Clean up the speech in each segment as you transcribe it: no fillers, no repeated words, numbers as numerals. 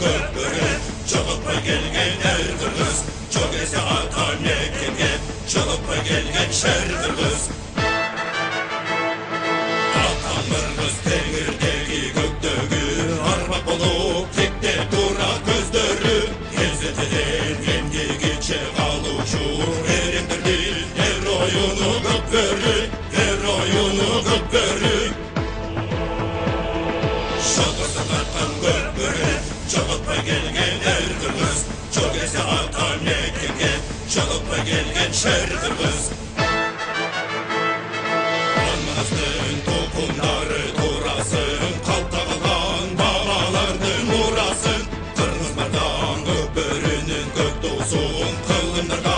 көпөрү, жолуппай келген эр кыргыз, жок эсе ата мекенге, жолуппай келген шер кыргыз. Атам кыргыз теңирдеги көктөгү, армак болуп текте тура көздөрү, эзетеден эмгегиче калуучу, эремдердин героюну көпөрү, героюну көпөрү. Шалгырса тарткан көпөрү, жолуппай келген эр кыргыз, жок эсе ата мекенге, жолуппай келген шер кыргыз. Анманастын тукумдары турасын, калкта калган бабалардын мурасын, кыргыз бардан көпөрүнүн көк туусун, кылымдарга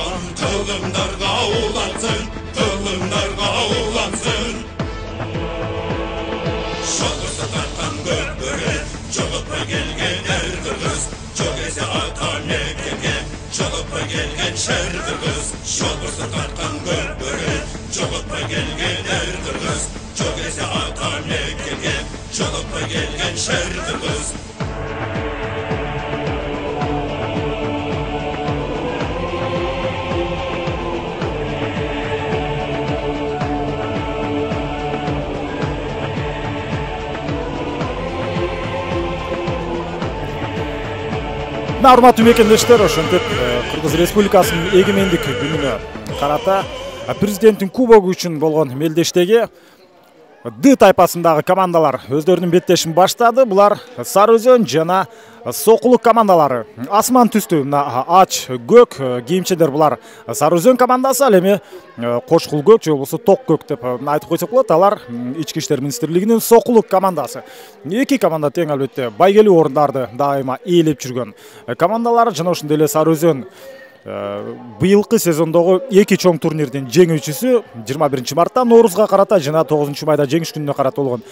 улансын, кылымдарга улансын. Шалгырса тарткан көпөрү, жолуппай келген эр кыргыз, жок эсе ата мекенге, жолуппай келген шер кыргыз. Шалгырса тарткан көпөрү, жолуппай келген эр кыргыз, жок эсе ата мекенге, жолуппай келген шер кыргыз. Урматтуу мекендештер, ошентип Кыргыз Республикасынын эгемендик күнүнө карата президенттин кубогу үчүн болгон мелдештеги Д тайпасындагы командалар өздөрүнүн беттешин баштады. Булар Сары Өзөн жана Сокулук командалары. Асман түстүү мына ач көк кийимчелер булар Сары Өзөн командасы, ал эми кошкул көк же болбосо ток көк деп айтып койсок болот. Алар Ички иштер министрлигинин Сокулук командасы. Эки команда тең албетте байгелүү орундарды дайыма ээлеп жүргөн командалар. Жана ошондой эле Сары Өзөн быйылкы сезондогу эки чоң турнирдин жеңүүчүсү 21 мартта Ноорузга карата жана 9 майда жеңиш күнүнө карата болгон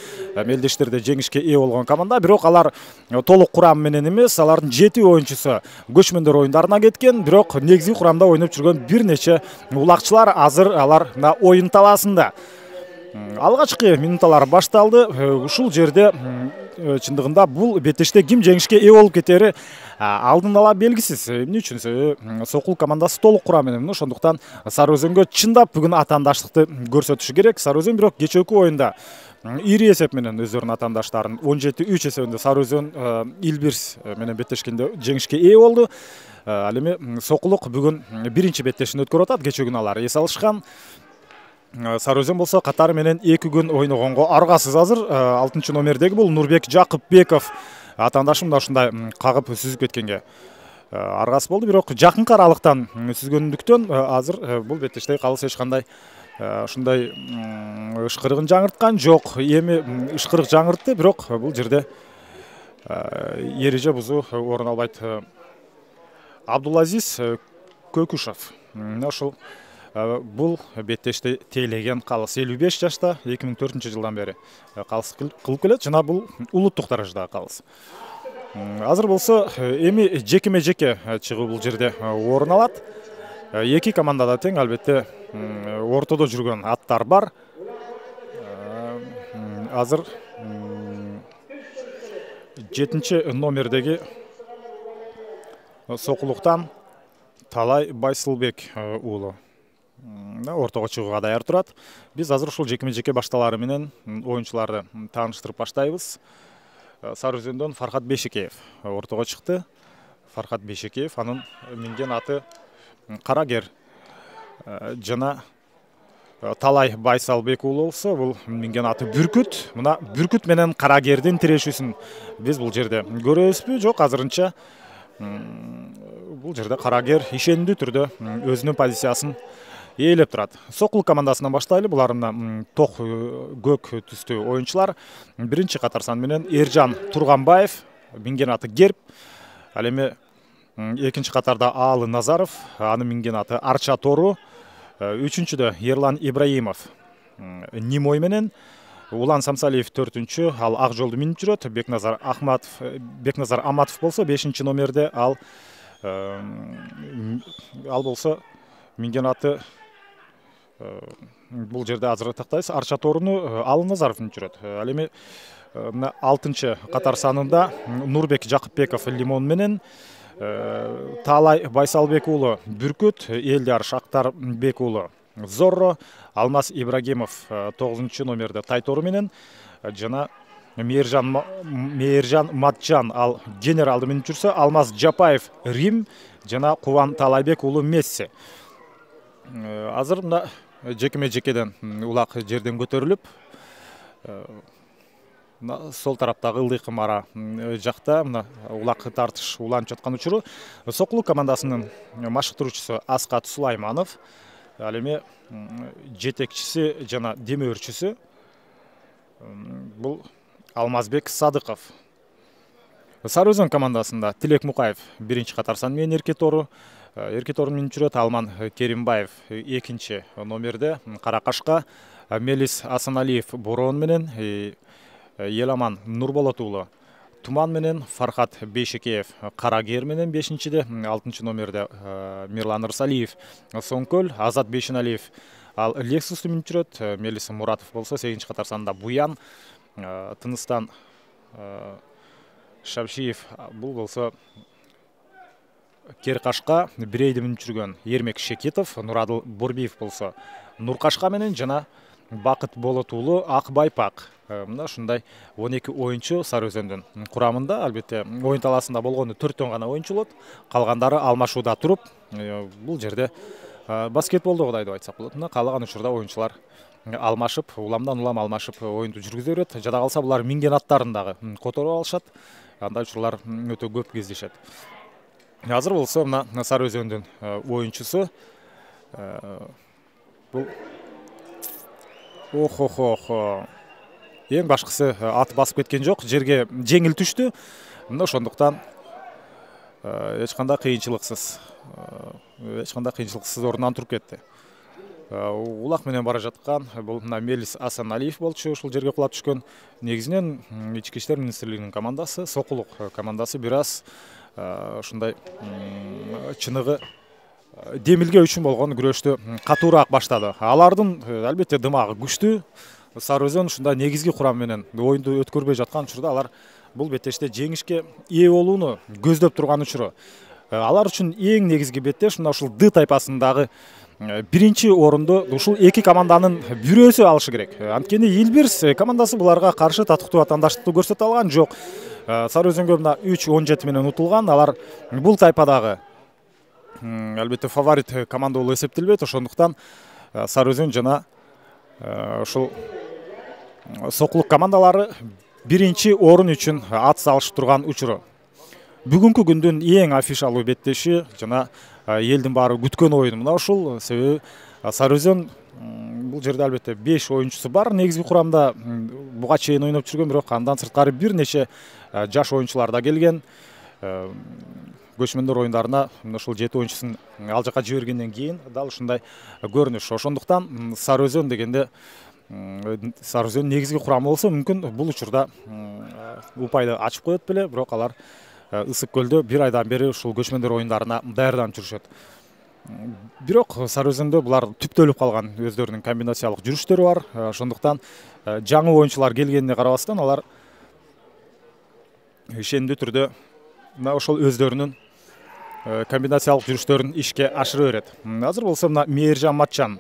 мелдештерде жеңишке ээ болгон команда. Бирок алар толук курам менен эмес, алардын 7 оюнчусу көчмөндөр оюндарына кеткен. Бирок негизги курамда ойноп жүргөн бир нече улакчылар азыр алар оюн талаасында. Алгачкы минуталар башталды. Ушул жерде чындыгында бул беттеште ким жеңишке ээ болуп кетери алдын ала белгисиз. Эмне үчүн Сокул командасы толук курам менен, ошондуктан Сары Өзөнгө чындап бүгүн атаандаштыкты көрсөтүшү керек. Сары Өзөн бирок кечээки оюнда ири эсеп менен өздөрүнүн атаандаштарын 17-3 эсебинде Сары Өзөн Илбирс менен беттешкенде жеңишке ээ болду. Ал эми Сокулук бүгүн биринчи беттешин өткөрүп атат. Кечээ күнү алар эс алышкан. Сары Өзөн болсо катары менен 2 күн ойногонго аргасыз азыр. 6 номердеги бул Нурбек Жакыпбеков атаандашым да ушундай кагып сүзүп кеткенге аргасыз болду. Бирок жакынкы аралыктан сүзгөндүктөн азыр бул беттештеги калыс эч кандай ушундай ышкырыгын жаңырткан жок. Эми ышкырык жаңыртты, бирок бул жерде эреже бузуу орун албайт. Абдулазиз Көкүшев ошол бул беттеште тейлеген калыс 55 жашта 2004-жылдан бери калыс кылып келет жана бул улуттук даражадагы калыс. Азыр болсо эми жекеме жеке чыгуу бул жерде орун алат. Эки командада тең албетте ортодо жүргөн аттар бар. Азыр 7 номердеги Сокулуктан Талай Байсылбек уулу ортого чыгууга даяр турат. Биз азыр ушул жекеме жеке башталары менен оюнчуларды тааныштырып баштайбыз. Сары Өзөндөн Фархат Бешекеев ортого чыкты. Фархат Бешекеев, анын минген аты Карагер. Жана Талай Байсалбек уулу болсо, бул минген аты Бүркүт. Мына Бүркүт менен Карагердин тирешүүсүн биз бул жерде көрөбүзбү? Жок, азырынча бул жерде Карагер ишендүү түрдө өзүнүн позициясын ээлеп турат. Сокул командасынан баштайлы. Булар ток көк түстүү оюнчулар. Биринчи катар сан менен Эржан Турганбаев, минген аты Герб. Ал эми экинчи катарда Аалы Назаров, анын минген аты Арча Тору. Үчүнчүдө Ерлан Ибраимов Нимой менен, Улан Самсалиев 4-чү, ал ак жолду минип жүрөт. Бекназар Аматов болсо 5-чи номерде, ал болсо минген аты бул жерде азыр тактайбыз Арча Торуну Аалы Назаров минип жүрөт. Ал эми мына 6 катар санында Нурбек Жакыпбеков Лимон менен, Таалай Байсалбек уулу Бүркүт, Элдар Шактарбек уулу Зорро, Алмаз Ибрагимов 9 номерде Тайтору менен, жана Мээржан Матжан ал генералды менен жүрсө, Алмаз Жапаев Рим жана Кубан Таалайбек уулу Месси. Азыр мына жекеме-жекеден улак жерден көтөрүлүп, сол тараптагы ылдый кымара жакта мына улак тартыш уланып жаткан учуру. Сокулук командасынын машыктыруучусу Аскат Сулайманов, ал эми жетекчиси жана демөөрчүсү бул Алмазбек Садыков. Сары Өзөн командасында Тилек Мукаев 1 катар сан менен эркетору менен жүрөт. Алман Керимбаев 2 номерде Каракашка, Мелис Асаналиев Борон менен, Еламан Нурболот уулу Туман менен, Фархат Бейшекеев Карагер менен 5-де, 6 номерде Мирлан Ырсалиев Соңкөл, Азат Бейшеналиев ал Лексус менен жүрөт. Мелис Муратов болсо 8 катар санда Буян, Тыныстан Шабшиев бул болсо Керкашка Бирейди менен жүргөн Ермек Шекетов, Нурадыл Борбиев болсо Нуркашка менен жана Бакыт Болот уулу Акбайпак. Мына ушундай 12 оюнчу Сары Өзөндүн курамында. Албетте оюн талаасында болгону 4 гана оюнчу болот. Калгандары алмашууда туруп, бул жерде баскетболдогудай деп айтсак болот. Мына каалаган учурда оюнчулар алмашып, уламдан улам алмашып оюнду жүргүзө берет. Жада калса булар минген аттарын дагы которуп алышат. Андай учурлар өтө көп кездешет. Азыр болсо мына Сары Өзөндүн оюнчусу бул эң башкысы аты басып кеткен жок, жерге жеңил түштү. Мына ошондуктан эч кандай кыйынчылыксыз ордунан туруп кетти. Улак менен бара жаткан бул мына Мелис Асаналиев болчу, ушул жерге кулап түшкөн. Негизинен Ички иштер министрлигинин командасы, Сокулук командасы бир аз ушундай чыныгы демилге үчүн болгон күрөштү катуураак баштады. Алардын албетте дымагы күчтүү. Сары Өзөн ушундай негизги курам менен оюнду өткөрбөй жаткан учурда алар бул беттеште жеңишке ээ болууну көздөп турган учуру. Алар үчүн эң негизги беттеш мына ушул Д тайпасындагы 1 орунду ушул 2 команданын бирөөсү алышы керек. Анткени Илбирс командасы буларга каршы татыктуу атаандаштыкты көрсөтө алган жок. Сары Өзөнгө мына 3-17 менен утулган. Алар бул тайпадагы албетте фаворит команда болуп эсептелбейт. Ошондуктан Сары Өзөн жана ушул Сокулук командалары 1 орун үчүн ат салышып турган учуру. Бүгүнкү күндүн эң афишалуу беттеши жана элдин баары күткөн оюн мына ушул. Себеби Сары Өзөн бул жерде албетте 5 оюнчусу бар негизги курамда. Буга чейин ойноп жүргөн, бирок андан сырткары бир нече жаш оюнчулар да келген. Көчмөндөр оюндарына ушул 7 оюнчусун ал жака жибергенден кийин дал ушундай көрүнүш. Ошондуктан Сары Өзөн дегенде Сары Өзөн негизги курамы болсо мүмкүн бул учурда упайды ачып коет беле, бирок алар Ысык көлдө бир айдан бери ушул көчмөндөр оюндарына даярданып жүрүшөт. Бирок Сары Өзөндө булар түптөлүп калган өздөрүнүн комбинациялык жүрүштөрү бар. Ошондуктан жаңы оюнчулар келгенине карабастан алар ишендүү түрдө мына ошол өздөрүнүн комбинациялык жүрүштөрүн ишке ашыра берет. Азыр болсо мына Мээржан Матчан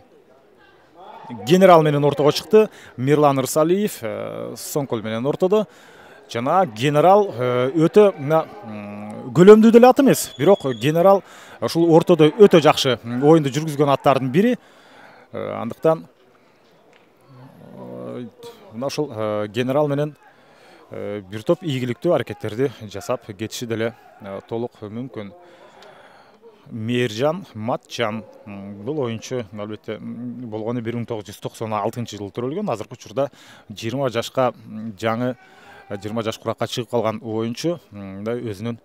генерал менен ортого чыкты. Мирлан Ырсалиев Соңкөл менен ортодо. Жана генерал өтө мына көлөмдүү деле ат эмес, бирок генерал ушул ортодо өтө жакшы оюнду жүргүзгөн аттардын бири. Андыктан мына ушул генерал менен бир топ ийгиликтүү аракеттерди жасап кетиши деле толук мүмкүн. Мээржан Матчан бул оюнчу албетте болгону 1996-жылы төрөлгөн. Азыркы учурда 20 жашка жаңы 20 жаш куракка чыгып калган оюнчу өзүнүн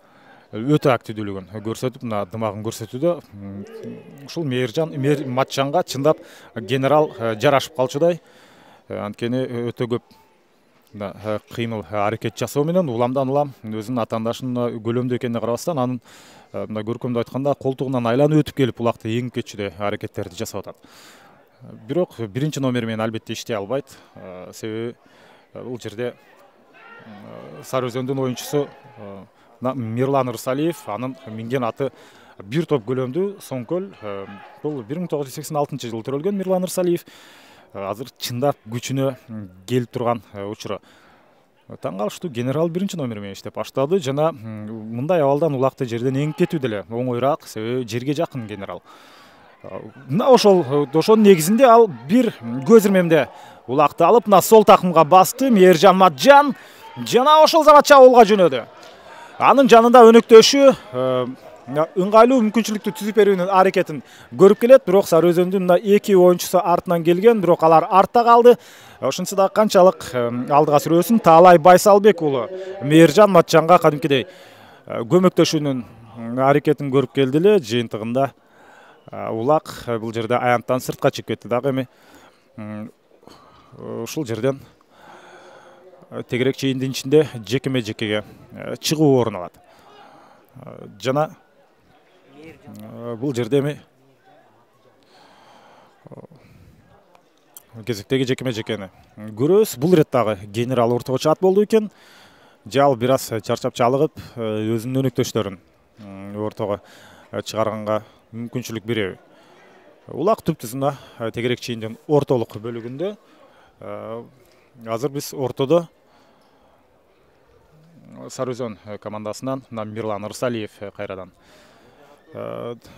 өтө активдүүлүгүн көрсөтүп, мына дымагын көрсөтүүдө ушул Мээржан Матчанга чындап генерал жарашып калчудай. Анткени өтө көп кыймыл аракет жасоо менен уламдан улам өзүнүн атаандашынын көлөмдүү экенине карабастан анын мына көркөмдүү айтканда колтугунан айланып өтүп келип булакты эңип кетчүдөй аракеттерди жасап атат. Бирок 1 номер менен албетте иштей албайт. Себеби бул жерде Сары Өзөндүн оюнчусу Мирлан Ырсалиев, анын минген аты бир топ көлөмдүү Соңкөл. Бул 1986 жылы төрөлгөн Мирлан Ырсалиев. Азыр чындап күчүнө келип турган учуру. Таң калыштуу генерал 1-номер менен иштеп баштады жана мындай абалдан улакты жерден эңип кетүү деле оңоюраак, себеби жерге жакын генерал. Ошонун негизинде ал бир көз ирмемде улакты алып, сол такымга басты. Мээржан Матжан жана ошол замат чабуулга жөнөдү. Анын жанында өнөктөшү ыңгайлуу мүмкүнчүлүктү түзүп берүүнүн аракетин көрүп келет, бирок Сары Өзөндүн 2 оюнчусу артынан келген, бирок алар артта калды. Ошентсе да канчалык алдыга сүрөсүн Таалай Байсалбек уулу Мээржан Матжанга кадимкидей көмөктөшүүнүн аракетин көрүп келди эле. Жыйынтыгында улак бул жерде аянттан сыртка чыгып кетти дагы. Эми ушул жерден тегерек чейиндин ичинде жекеме-жекеге чыгуу орун алат. Жана бул жерде эми кезектеги жекеме-жекени көрөбүз. Бул ирет дагы генерал ортого ат болду экен. Жал бир аз чарчап чалыгып, өзүнүн өнөктөштөрүн ортого чыгарганга мүмкүнчүлүк береби. Улак түптүзүнө тегерек чейиндин ортолук бөлүгүндө. Азыр биз ортодо Сары Өзөн командасынан Мирлан Ырсалиев кайрадан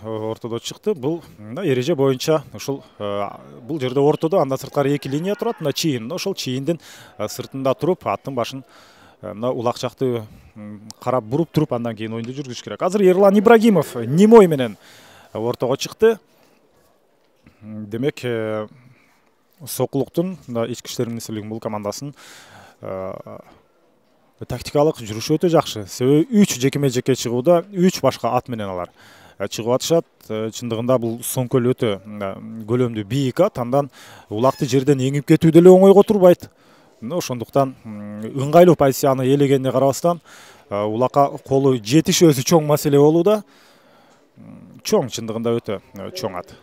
ортодо чыкты. Бул эреже боюнча ушул бул жерде ортодо андан сырткары 2 линия турат. Чийин, ошол чийиндин сыртында туруп, аттын башын улак жакты карап буруп туруп, андан кийин оюнду жүргүзүш керек. Азыр Ерлан Ибрагимов Немой менен ортого чыкты. Демек, Сокулуктун ички иштер министрлигинин бул командасын тактикалык жүрүшү өтө жакшы. Себеби 3 жекеме-жеке чыгууда 3 башка ат менен алар чыгып атышат. Чындыгында бул Соңкөл өтө көлөмдүү бийик ат, андан улакты жерден эңип кетүү деле оңойго турбайт. Ошондуктан ыңгайлуу позицияны ээлегенине карабастан улакка колу жетиш өзү чоң маселе болууда. Чоң, чындыгында өтө чоң ат.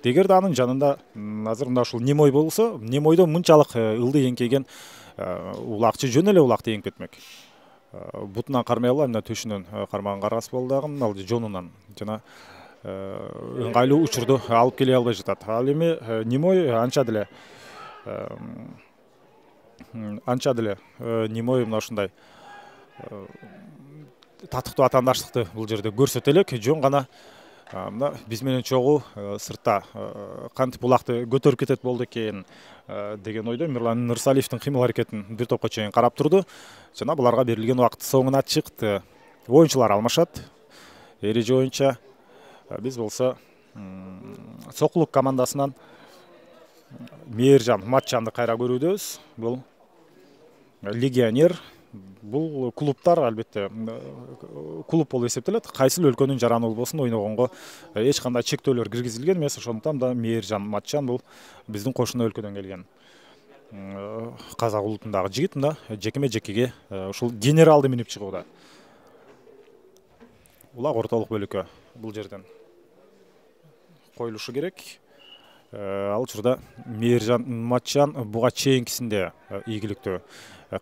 Эгерде анын жанында азыр ушул Немой болсо, Немойдо мынчалык ылды эңкейген улакчы жөн эле улакты эңип кетмек. Бутунан кармай албай, мына төшүнөн кармаган каргасы болду дагы, ал жонунан жана ыңгайлуу учурду алып келе албай жатат. Ал эми Немой анча деле Немой мына ушундай татыктуу атаандаштыкты бул жерде көрсөтө элек. Жөн гана мына биз менен чогуу сыртта кантип улакты көтөрүп кетет болду экен деген ойдо Мирлан Ырсалиевдин кыймыл аракетин бир топко чейин карап турду. Жана буларга берилген убакыт соңуна чыкты. Оюнчулар алмашат. Эреже боюнча биз болсо Сокулук командасынан Мээржан Матжанды кайра көрүүдөбүз. Бул легионер. Бул клубтар албетте клуб болуп эсептелет. Кайсыл өлкөнүн жараны болбосун ойногонго эч кандай чектөөлөр киргизилген эмес. Ошондуктан да Мээржан Матжан бул биздин кошуна өлкөдөн келген казак улутундагы жигит. Мында жекеме-жекеге ушул генералды минип чыгууда. Улак ортолук бөлүккө бул жерден коюлушу керек. Ал учурда Мээржан Матжан буга чейинкисинде ийгиликтүү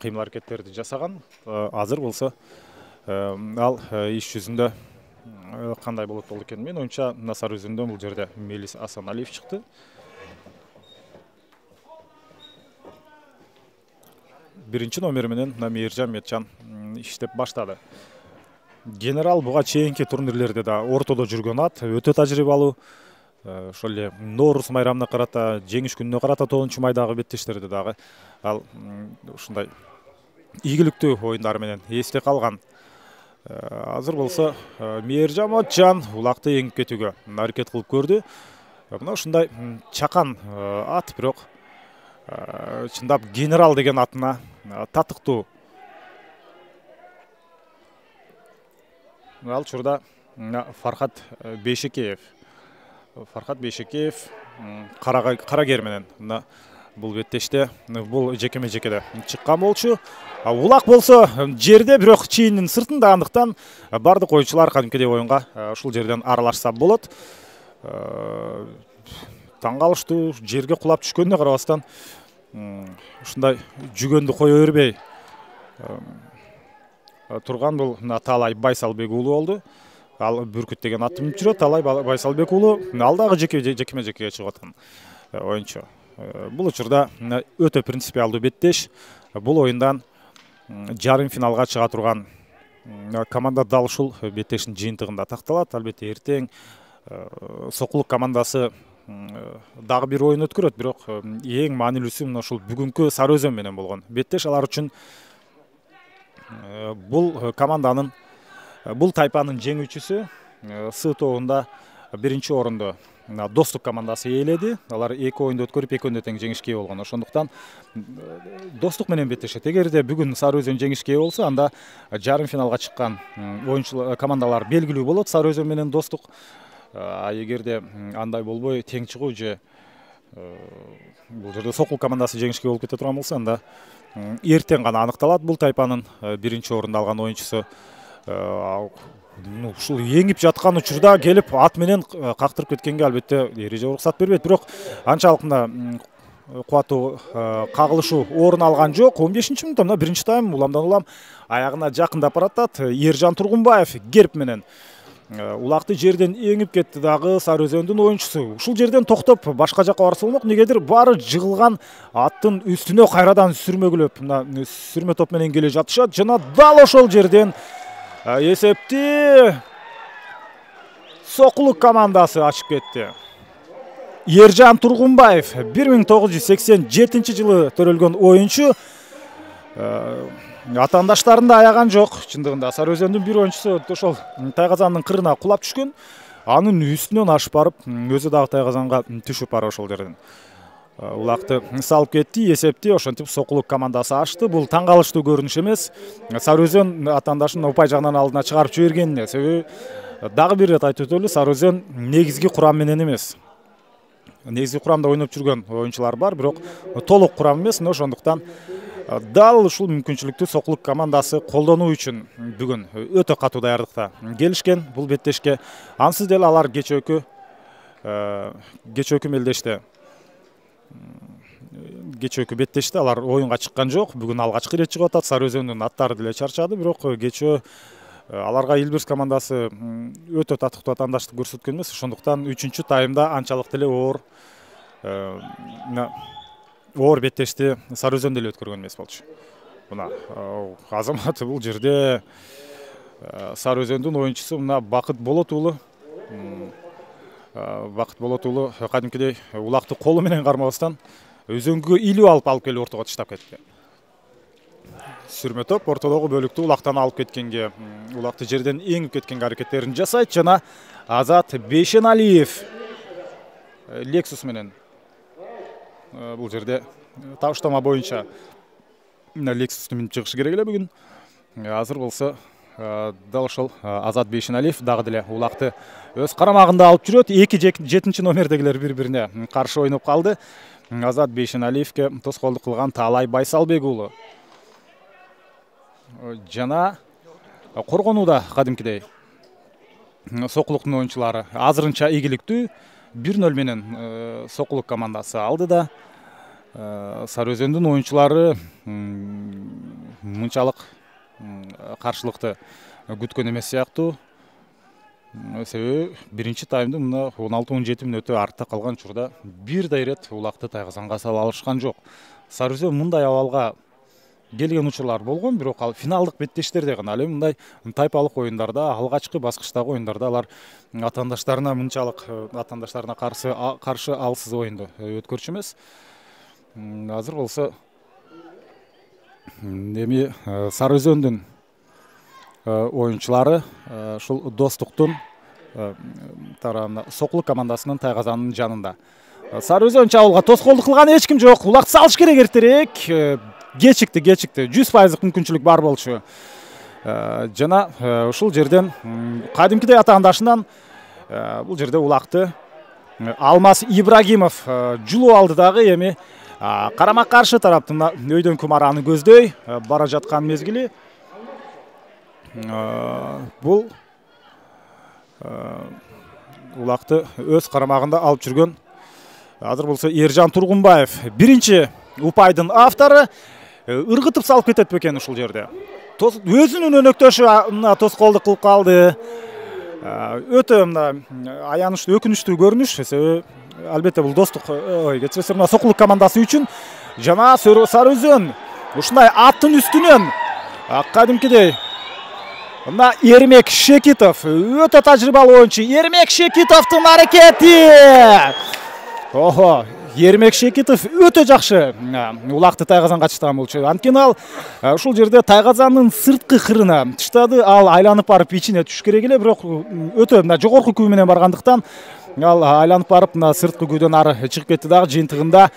кыймыл аракеттерди жасаган. Азыр болсо ал иш жүзүндө кандай болот болду экен? Мен оюнча Сары Өзөндөн бул жерде Мелис Асаналиев чыкты. Биринчи номер менен Мээржан Матжан иштеп баштады. Генерал буга чейинки турнирлерде да ортодо жүргөн ат, өтө тажрыйбалуу. Ошол эле Нооруз майрамына карата, жеңиш күнүнө карата 9 майдагы беттештерде дагы ал ушундай ийгиликтүү оюндары менен эсте калган. Азыр болсо Мээржан Матжан улакты эңип кетүүгө аракет кылып көрдү. Мына ушундай чакан ат, бирок чындап генерал деген атына татыктуу. Ал учурда Фархат Бейшекеев Карагер менен бул беттеште, бул жекеме-жекеде чыккан болчу. Улак болсо жерде, бирок чийиндин сыртында, андыктан бардык оюнчулар кадимкидей оюнга ушул жерден аралашса болот. Таң калыштуу, жерге кулап түшкөнүнө карабастан ушундай жүгөндү кое бербей турган бул Талай Байсалбек уулу болду. Ал Бүркүт деген атты минип жүрөт. Талай Байсалбек уулу алдагы жекеме жекеге чыгып аткан оюнчу. Бул учурда өтө принципиалдуу беттеш. Бул оюндан жарым финалга чыга турган команда дал ушул беттештин жыйынтыгында такталат. Албетте эртең Сокулук командасы дагы бир оюн өткөрөт, бирок эң маанилүүсү мына ушул бүгүнкү Сары Өзөн менен болгон беттеш. Алар үчүн бул команданын, бул тайпанын жеңүүчүсү С тобунда биринчи орунду Достук командасы ээледи. Алар 2 оюнду өткөрүп, 2-өндө тең жеңишке ээ болгон. Ошондуктан Достук менен беттешет. Эгерде бүгүн Сары Өзөн жеңишке ээ болсо, анда жарым финалга чыккан оюнчулар командалар белгилүү болот, Сары Өзөн менен Достук. Эгерде андай болбой тең чыгуу же бул жерде Сокул командасы жеңишке болуп кете турган болсо, анда эртең гана аныкталат. Бул тайпанын биринчи орунду алган оюнчусу ушул эңип жаткан учурда келип ат менен кактырып кеткенге албетте эреже уруксат бербейт. Бирок анчалык мына кубаттуу кагылышуу орун алган жок. 15-мүнөттө мына биринчи тайм уламдан улам аягына жакындап баратат. Ержан Тургунбаев герб менен улакты жерден эңип кетти дагы Сары Өзөндүн оюнчусу. Ушул жерден токтоп башка жакка барса болмок. Негедир баары жыгылган аттын үстүнө кайрадан сүрмөгүлөп мына сүрмө топ менен келе жатышат. Жана дал ошол жерден эсепти Сокулук командасы ачып кетти. Ержан Тургунбаев 1987 жылы төрөлгөн оюнчу. Атаандаштарында аяган жок. Чындыгында Сары Өзөндүн бир оюнчусу ошол тайгазандын кырына кулап түшкөн. Анын үстүнөн ашып барып, өзү дагы тайгазанга түшүп барып ошол жерден улакты салып кетти. Эсепти ошентип Сокулук командасы ачты. Бул таң калыштуу көрүнүш эмес. Сары Өзөн атаандашын упай жагынан алдына чыгарып жибергенине себеби дагы бир рет айтып өтөлү, Сары Өзөн негизги курам менен эмес. Негизги курамда ойноп жүргөн оюнчулар бар, бирок толук курам эмес. Ошондуктан дал ушул мүмкүнчүлүктү Сокулук командасы колдонуу үчүн бүгүн өтө катуу даярдыкта келишкен бул беттешке. Ансыз деле алар кечөөкү мелдеште кечөөкү беттеште алар оюнга чыккан жок. Бүгүн алгачкы ирет чыгып атат. Сары Өзөндүн аттары деле чарчады, бирок кечөө аларга Илбирс командасы өтө татыктуу атаандаштык көрсөткөн эмес. Ошондуктан 3-чү таймда анчалык деле оор беттешти Сары Өзөн деле өткөргөн эмес болчу. Мына Азамат бул жерде Сары Өзөндүн оюнчусу мына Бакыт Болот уулу кадимкидей улакты колу менен кармабастан өзөңгү илүү алып келип ортого таштап кетти. Сүрмө топ ортодогу бөлүктү улактан алып кеткенге, улакты жерден эңип кеткенге аракеттерин жасайт. Жана Азат Бейшеналиев Lexus менен бул жерде табыштама боюнча Lexus'ту минип чыгышы керек эле бүгүн. Азыр болсо дал ошол Азат Бейшеналиев дагы деле улакты өз карамагында алып жүрөт. 2-7 номердегилер бири-бирине каршы ойноп калды. Азат Бейшеналиевке тоскоолдук кылган Талай Байсалбек уулу. Жана коргонууда кадимкидей Сокулуктун оюнчулары азырынча ийгиликтүү 1-0 менен Сокулук командасы алды да Сары Өзөндүн оюнчулары мынчалык каршылыкты күткөн эмес сыяктуу. Себеби биринчи таймдын мына 16-17 мүнөтү артта калган учурда бир да ирет улакты тайгазанга сала алышкан жок. Сары Өзөн мындай абалга келген учурлар болгон, бирок ал финалдык беттештерде гана. Ал эми мындай тайпалык оюндарда, алгачкы баскычтагы оюндарда алар атаандаштарына каршы алсыз оюнду өткөрчү эмес. Азыр болсо эми Сары Өзөндүн оюнчулары ушул Достуктун тарабына Сокулук командасынын тайгазанынын жанында. Сары Өзөн чабуулга тоскоолдук кылган эч ким жок. Улак салыш керек эртерээк. Кечикти 100% мүмкүнчүлүк бар болчу. Жана ушул жерден кадимкидей атаандашынан бул жерде улакты Алмаз Ибрагимов жулуп алды дагы. Эми карама каршы тараптын өйдөн кумараны көздөй бара жаткан мезгили. Бул улакты өз карамагында алып жүргөн азыр болсо Ержан Тургунбаев биринчи упайдын автору. ыргытып салып кетет бекен ушул жерде. Өзүнүн өнөктөшү мына тоскоолдук кылып калды. Өтө мына аянычтуу, өкүнүчтүү көрүнүш. Себеби албетте бул достук, кечиресиз, мына Сокулук командасы үчүн жана Сары Өзөн ушундай аттын үстүнөн кадимкидей мына Эрмек Шекитов, өтө тажрыйбалуу оюнчу Эрмек Шекитовдун аракети. Эрмек Шекитов өтө жакшы улакты тайгазанга чыштаган болчу. Анткени ал ушул жерде тайгазандын сырткы кырына чыштады. Ал айланып барып ичине түшүш керек эле, бирок өтө мына жогорку күү менен баргандыктан ал айланып барып мына сырткы күүдөн ары чыгып кетти дагы. Жыйынтыгында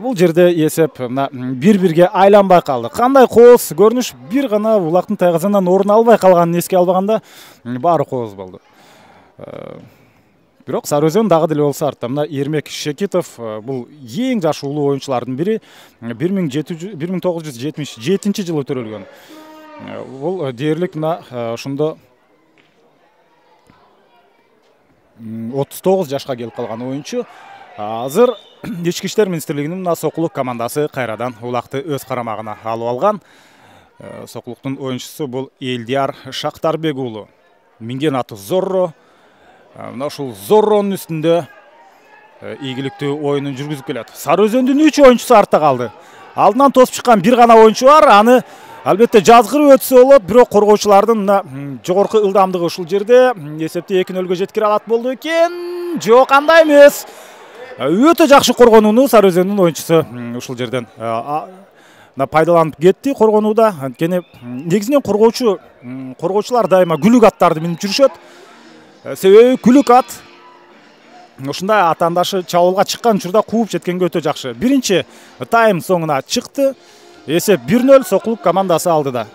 бул жерде эсеп мына 1-1 айланбай калды. Кандай кооз көрүнүш, бир гана улактын тайгазандан орун албай калганын эске албаганда баары кооз болду. Бирок Сары Өзөн дагы деле болсо артта мына Эрмек Шекитов бул эң жашы улуу оюнчулардын бири. 1977 төрөлгөн. Бул дээрлик мына ошондо 39 жашка келип калган оюнчу. Азыр Ички иштер министрлигинин мына Сокулук командасы кайрадан улакты өз карамагына алып алган. Сокулуктун оюнчусу бул Элдияр Шактарбек уулу. Минген аты Зорро. Мына ушул Зорронун үстүндө ийгиликтүү оюнун жүргүзүп келет. Сары Өзөндүн 3 оюнчусу артта калды. Алдынан тосуп чыккан бир гана оюнчу бар. Аны албетте жазгырып өтсө болот, бирок коргоочулардын мына жогорку ылдамдыгы ушул жерде эсепти 2-0 жеткире алат болду экен. Жок, андай эмес. Өтө жакшы коргонууну Сары Өзөндүн оюнчусу ушул жерден пайдаланып кетти коргонууда. Анткени негизинен коргоочулар дайыма күлүк аттарды минип жүрүшөт. Себеби күлүк ат ушундай атаандашы чабуулга чыккан учурда кууп жеткенге өтө жакшы. Биринчи тайм соңуна чыкты. Эсеп 1-0 Сокулук командасы алдыда.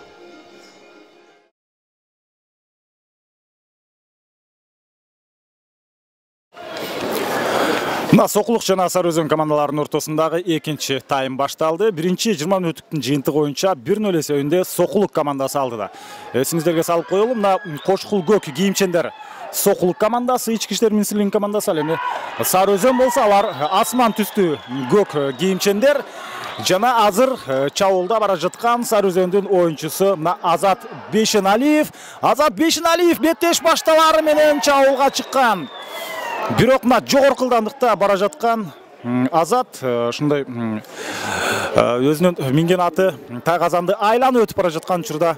Мына Сокулук жана Сары Өзөн командаларынын ортосундагы экинчи тайм башталды. Биринчи 20 мүнөттүктүн жыйынтыгы боюнча 1-0 эсебинде Сокулук командасы алдыда. Эсиңиздерге салып коелу, мына кошкул көк кийимчендер Сокулук командасы, Ички иштер министрлигинин командасы. Ал эми Сары Өзөн болсо алар асман түстүү көк кийимчендер. Жана азыр чабуулда бара жаткан Сары Өзөндүн оюнчусу мына Азат Бешеналиев. Азат Бешеналиев беттеш башталары менен чабуулга чыккан. Бирок мына жогорку ылдамдыкта бара жаткан Азат ушундай өзүнүн минген аты тайгазанды айланып өтүп бара жаткан учурда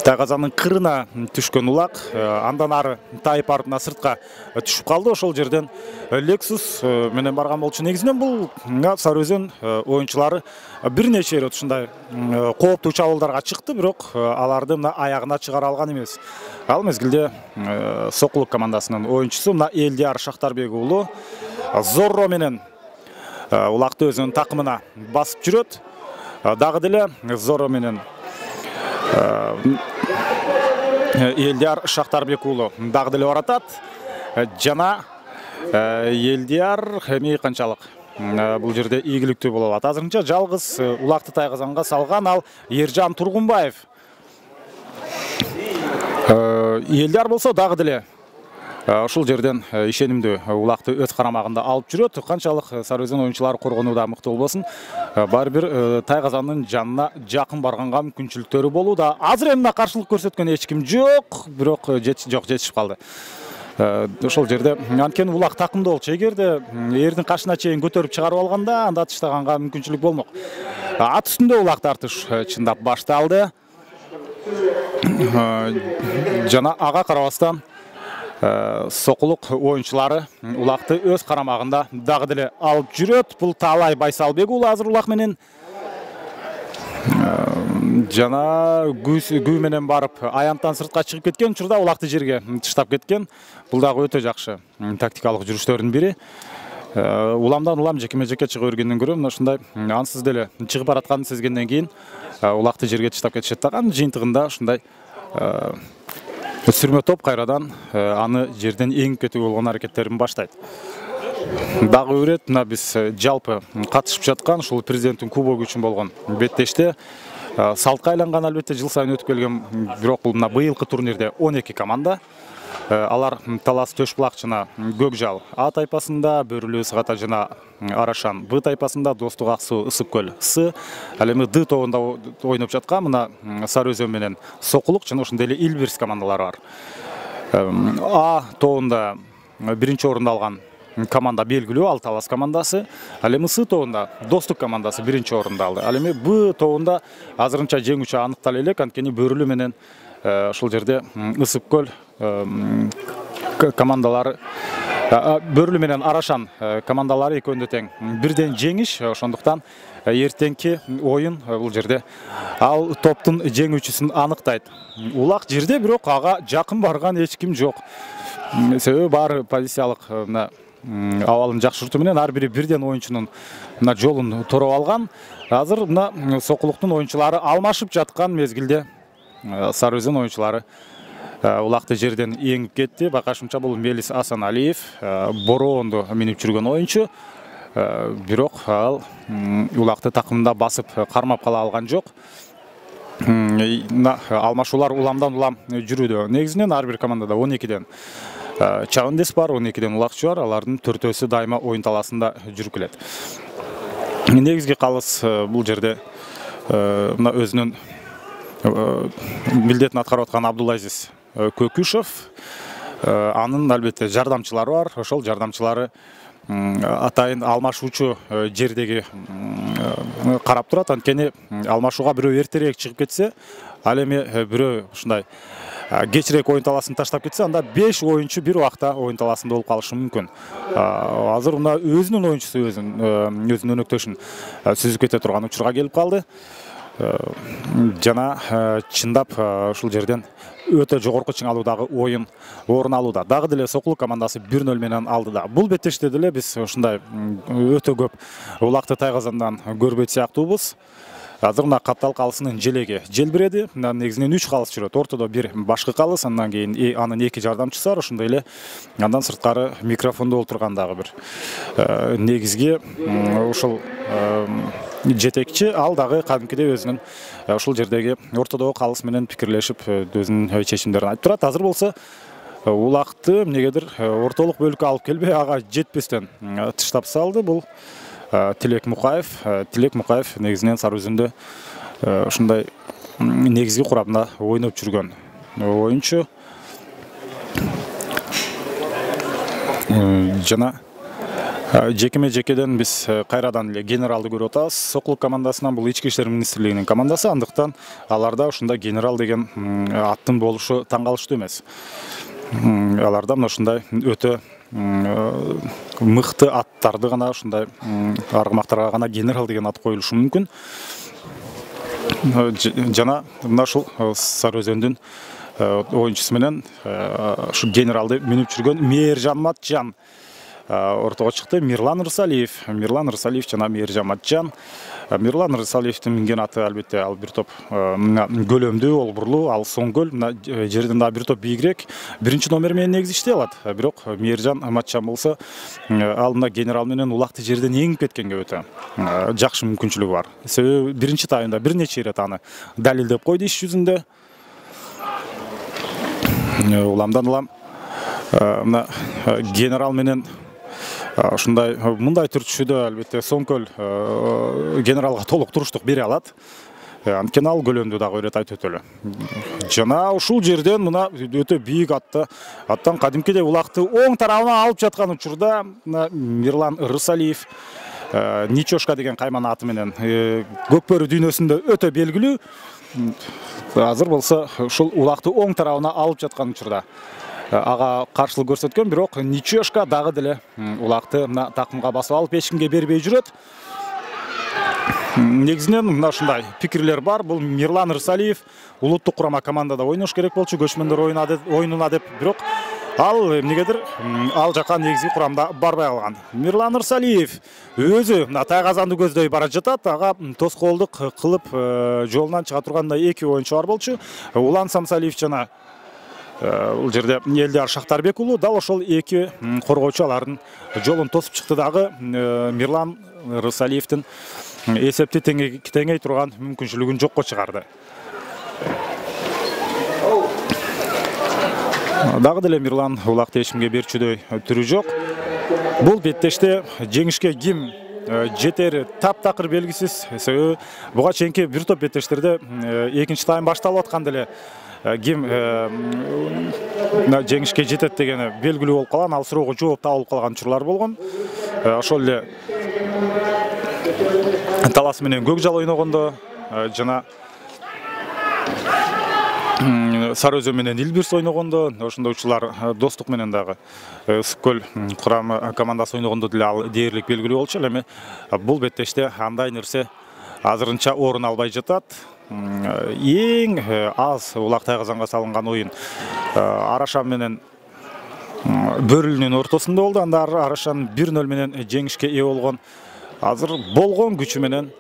тайгазандын кырына түшкөн улак андан ары тайып барып мына сыртка түшүп калды. Ошол жерден Lexus менен барган болчу. Негизинен бул Сары Өзөн оюнчулары бир нече ирет ушундай кооптуу чабуулдарга чыкты, бирок аларды мына аягына чыгара алган эмес. Ал мезгилде Сокулук командасынын оюнчусу мына Элдияр Шактарбек уулу Зорро менен улакты өзүнүн такымына басып жүрөт. Дагы деле Зорро менен Элдияр Шактарбек уулу дагы деле баратат. Жана Элдияр эми канчалык бул жерде ийгиликтүү боло алат. Азырынча жалгыз улакты тайгазанга салган ал Эржан Тургунбаев. Элдияр болсо дагы деле ушул жерден ишенимдүү улакты өз карамагында алып жүрөт. Канчалык Сары Өзөн оюнчулары коргонууда мыкты болбосун, баары бир тайгазандын жанына жакын барганга мүмкүнчүлүктөрү болууда. Азыр эми каршылык көрсөткөн эч ким жок, бирок жетишип калды. Ошол жерде анткени улак такымда болчу. Эгерде эрдин кашына чейин көтөрүп чыгарып алганда, анда тыштаганга мүмкүнчүлүк болмок. Ат үстүндө улак тартыш чындап башталды. Жана ага карабастан Сокулук оюнчулары улакты өз карамагында дагы деле алып жүрөт. Бул Таалай Байсалбек уулу азыр улак менен жана күү менен барып аянттан сыртка чыгып кеткен учурда улакты жерге тыштап кеткен. Бул дагы өтө жакшы тактикалык жүрүштөрдүн бири. Уламдан улам жекеме-жеке чыга бергенден көрө мына ушундай ансыз деле чыгып баратканын сезгенден кийин улакты жерге тыштап кетишет дагы. Жыйынтыгында ушундай сүрмө топ кайрадан аны жерден эңип кетүү болгон аракеттерин баштайт. Дагы өрет мына биз жалпы катышып жаткан ушул президенттин кубогу үчүн болгон беттеште салтка айланган албетте жыл сайын өтүп келген, бирок бул мына быйылкы турнирде 12 команда. Алар Талас Төшбулак жана Көкжал А тайпасында, Бөрүлүү Сыгата жана Арашан Б тайпасында, Достук Аксуу Ысык көл С. Ал эми Д тобунда ойноп жаткан мына Сары Өзөн менен Сокулук жана ошондой эле Илбирс командалары бар. А тобунда биринчи орунду алган команда белгилүү, ал Талас командасы. Ал эми С тобунда Достук командасы биринчи орунду алды. Ал эми Б тобунда азырынча жеңүүчү аныктала элек, анткени Бөрүлүү менен ушул жерде Ысык көл командалары, Бөрүлүү менен Арашан командалары экөөндө тең бирден жеңиш, ошондуктан эртеңки оюн бул жерде ал топтун жеңүүчүсүн аныктайт. Улак жерде бирок ага жакын барган эч ким жок. Себеби баары позициялык абалын жакшыртуу менен ар бири бирден оюнчунун жолун тороп алган. Азыр Сокулуктун оюнчулары алмашып жаткан мезгилде Сары Өзөн оюнчулары улакты жерден эңип кетти. Байкашымча бул Мелис Асаналиев, Бороонду минип жүргөн оюнчу. Бирок ал улакты такымында басып кармап кала алган жок. Алмашуулар уламдан улам жүрүүдө. Негизинен ар бир командада 12ден чабандес бар, 12ден улакчы бар. Алардын 4-өсү дайыма оюн таласында жүрүп келет. Негизги калыс бул жерде өзүнүн милдетин аткарып аткан Абдулазиз Көкүшев, анын албетте жардамчылары бар. Ошол жардамчылары атайын алмашуучу жердеги карап турат. Анткени алмашууга бирөө эртерээк чыгып кетсе, ал эми бирөө ушундай кечирээк оюн таласын таштап кетсе, анда 5 оюнчу бир убакта оюн таласында болуп калышы мүмкүн. Азыр мына өзүнүн оюнчусу өзүнүн өнөктөшүн сүзүп кете турган учурга келип калды. Жана чындап ушул жерден өтө жогорку чыңалуудагы оюн орун алууда. Дагы деле Сокулук командасы 1-0 менен алды да. Бул беттеште деле биз ушундай өтө көп улакты тайгазандан көрбөйт сыяктуубуз. Азыр мына каптал калысынын желеги желбиреди. Негизинен 3 калыс жүрөт. Ортодо бир башкы калыс, андан кийин анын 2 жардамчысы бар. Ошондой эле андан сырткары микрофондо олтурган дагы бир негизги ушул жетекчи, ал дагы кадимкидей өзүнүн ушул жердеги ортодогу калыс менен пикирлешип өзүнүн чечимдерин айтып турат. Азыр болсо улакты эмнегедир ортолук бөлүккө алып келбей, ага жетпестен тыштап салды. Бул Тилек Мукаев. Тилек Мукаев негизинен Сары Өзөндө ушундай негизги курамда ойноп жүргөн оюнчу. Жана жекеме-жекеден биз кайрадан эле генералды көрүп атабыз. Сокулук командасынан бул Ички иштер министрлигинин командасы, андыктан аларда ушундай генерал деген аттын болушу таң калыштуу эмес. Аларда ушундай өтө мыкты аттарды гана, ушундай аргымактарга гана генерал деген ат коюлушу мүмкүн. Жана мына ушул Сары Өзөндүн оюнчусу менен ушу генералды минип жүргөн Мээржан Матжан ортого чыкты. Мирлан Рысалиев жана Мээржан Матжан. Мирлан Рысалиевдин минген аты албетте ал бир топ көлөмдүү, олбурлуу, ал соңгөл, жерден дагы бир топ бийигирээк. Биринчи номер менен негизи иштей алат. Бирок Мээржан Матжан болсо ал мына генерал менен улакты жерден эңип кеткенге өтө жакшы мүмкүнчүлүгү бар. Себеби биринчи тайымда бир нече ирет аны далилдеп койду иш жүзүндө. Уламдан улам мына генерал менен ушундай мындай түрчүдө албетте соңкөл генералга толук туруштук бере алат. Анткени ал көлөмдүү дагы ирет өтө эле. Жана ушул жерден мына өтө бийик аттан кадимкидей улакты оң тарабына алып жаткан учурда Мирлан Рысалиев Ничошка деген кайман аты менен Көкбөрү дүйнөсүндө өтө белгилүү. Азыр болсо ушул улакты оң тарабына алып жаткан учурда ага каршылык көрсөткөн, бирок Ничошка дагы деле улакты мына такымга басып алып эч кимге бербей жүрөт. Негизинен мына ушундай пикирлер бар. Бул Мирлан Рысалиев улуттук курама командада ойнош керек болчу, көчмөндөр оюнуна деп, бирок ал эмнегедир ал жака негизги курамда барбай калган. Мирлан Рысалиев өзү мына тайгазанды көздөй бара жатат. Ага тоскоолдук кылып жолунан чыга тургандай 2 оюнчу бар болчу. Улан Самсалиев жана бул жерде Элдияр Шактарбек уулу дал ошол 2 коргоочу алардын жолун тосуп чыкты. Дагы Мирлан Рысалиевдин эсепти теңей турган мүмкүнчүлүгүн жокко чыгарды. Дагы деле Мирлан улакты эчимге берчүдөй түрү жок. Бул беттеште жеңишке ким жетери таптакыр белгисиз. Себеби буга чейинки бир топ беттештерде экинчи тайм башталып аткан деле ким жеңишке жетет дегени белгилүү болуп калган, ал суроого жооп табылып калган учурлар болгон. Ошол эле Талас менен Көкжал ойногондо жана Сары Өзөн менен Илбирс ойногондо, ошондой учурлар Достук менен дагы Ысык көл курамы командасы ойногондо деле ал дээрлик белгилүү болчу. Эми бул беттеште андай нерсе азырынча орун албай жатат. Эң аз Улак Тайгазанга салынган оюн Арашан менен Бөрүлүнүн ортосунда болду. Анда Арашан 1-0 менен жеңишке ээ болгон. Азыр болгон күчү менен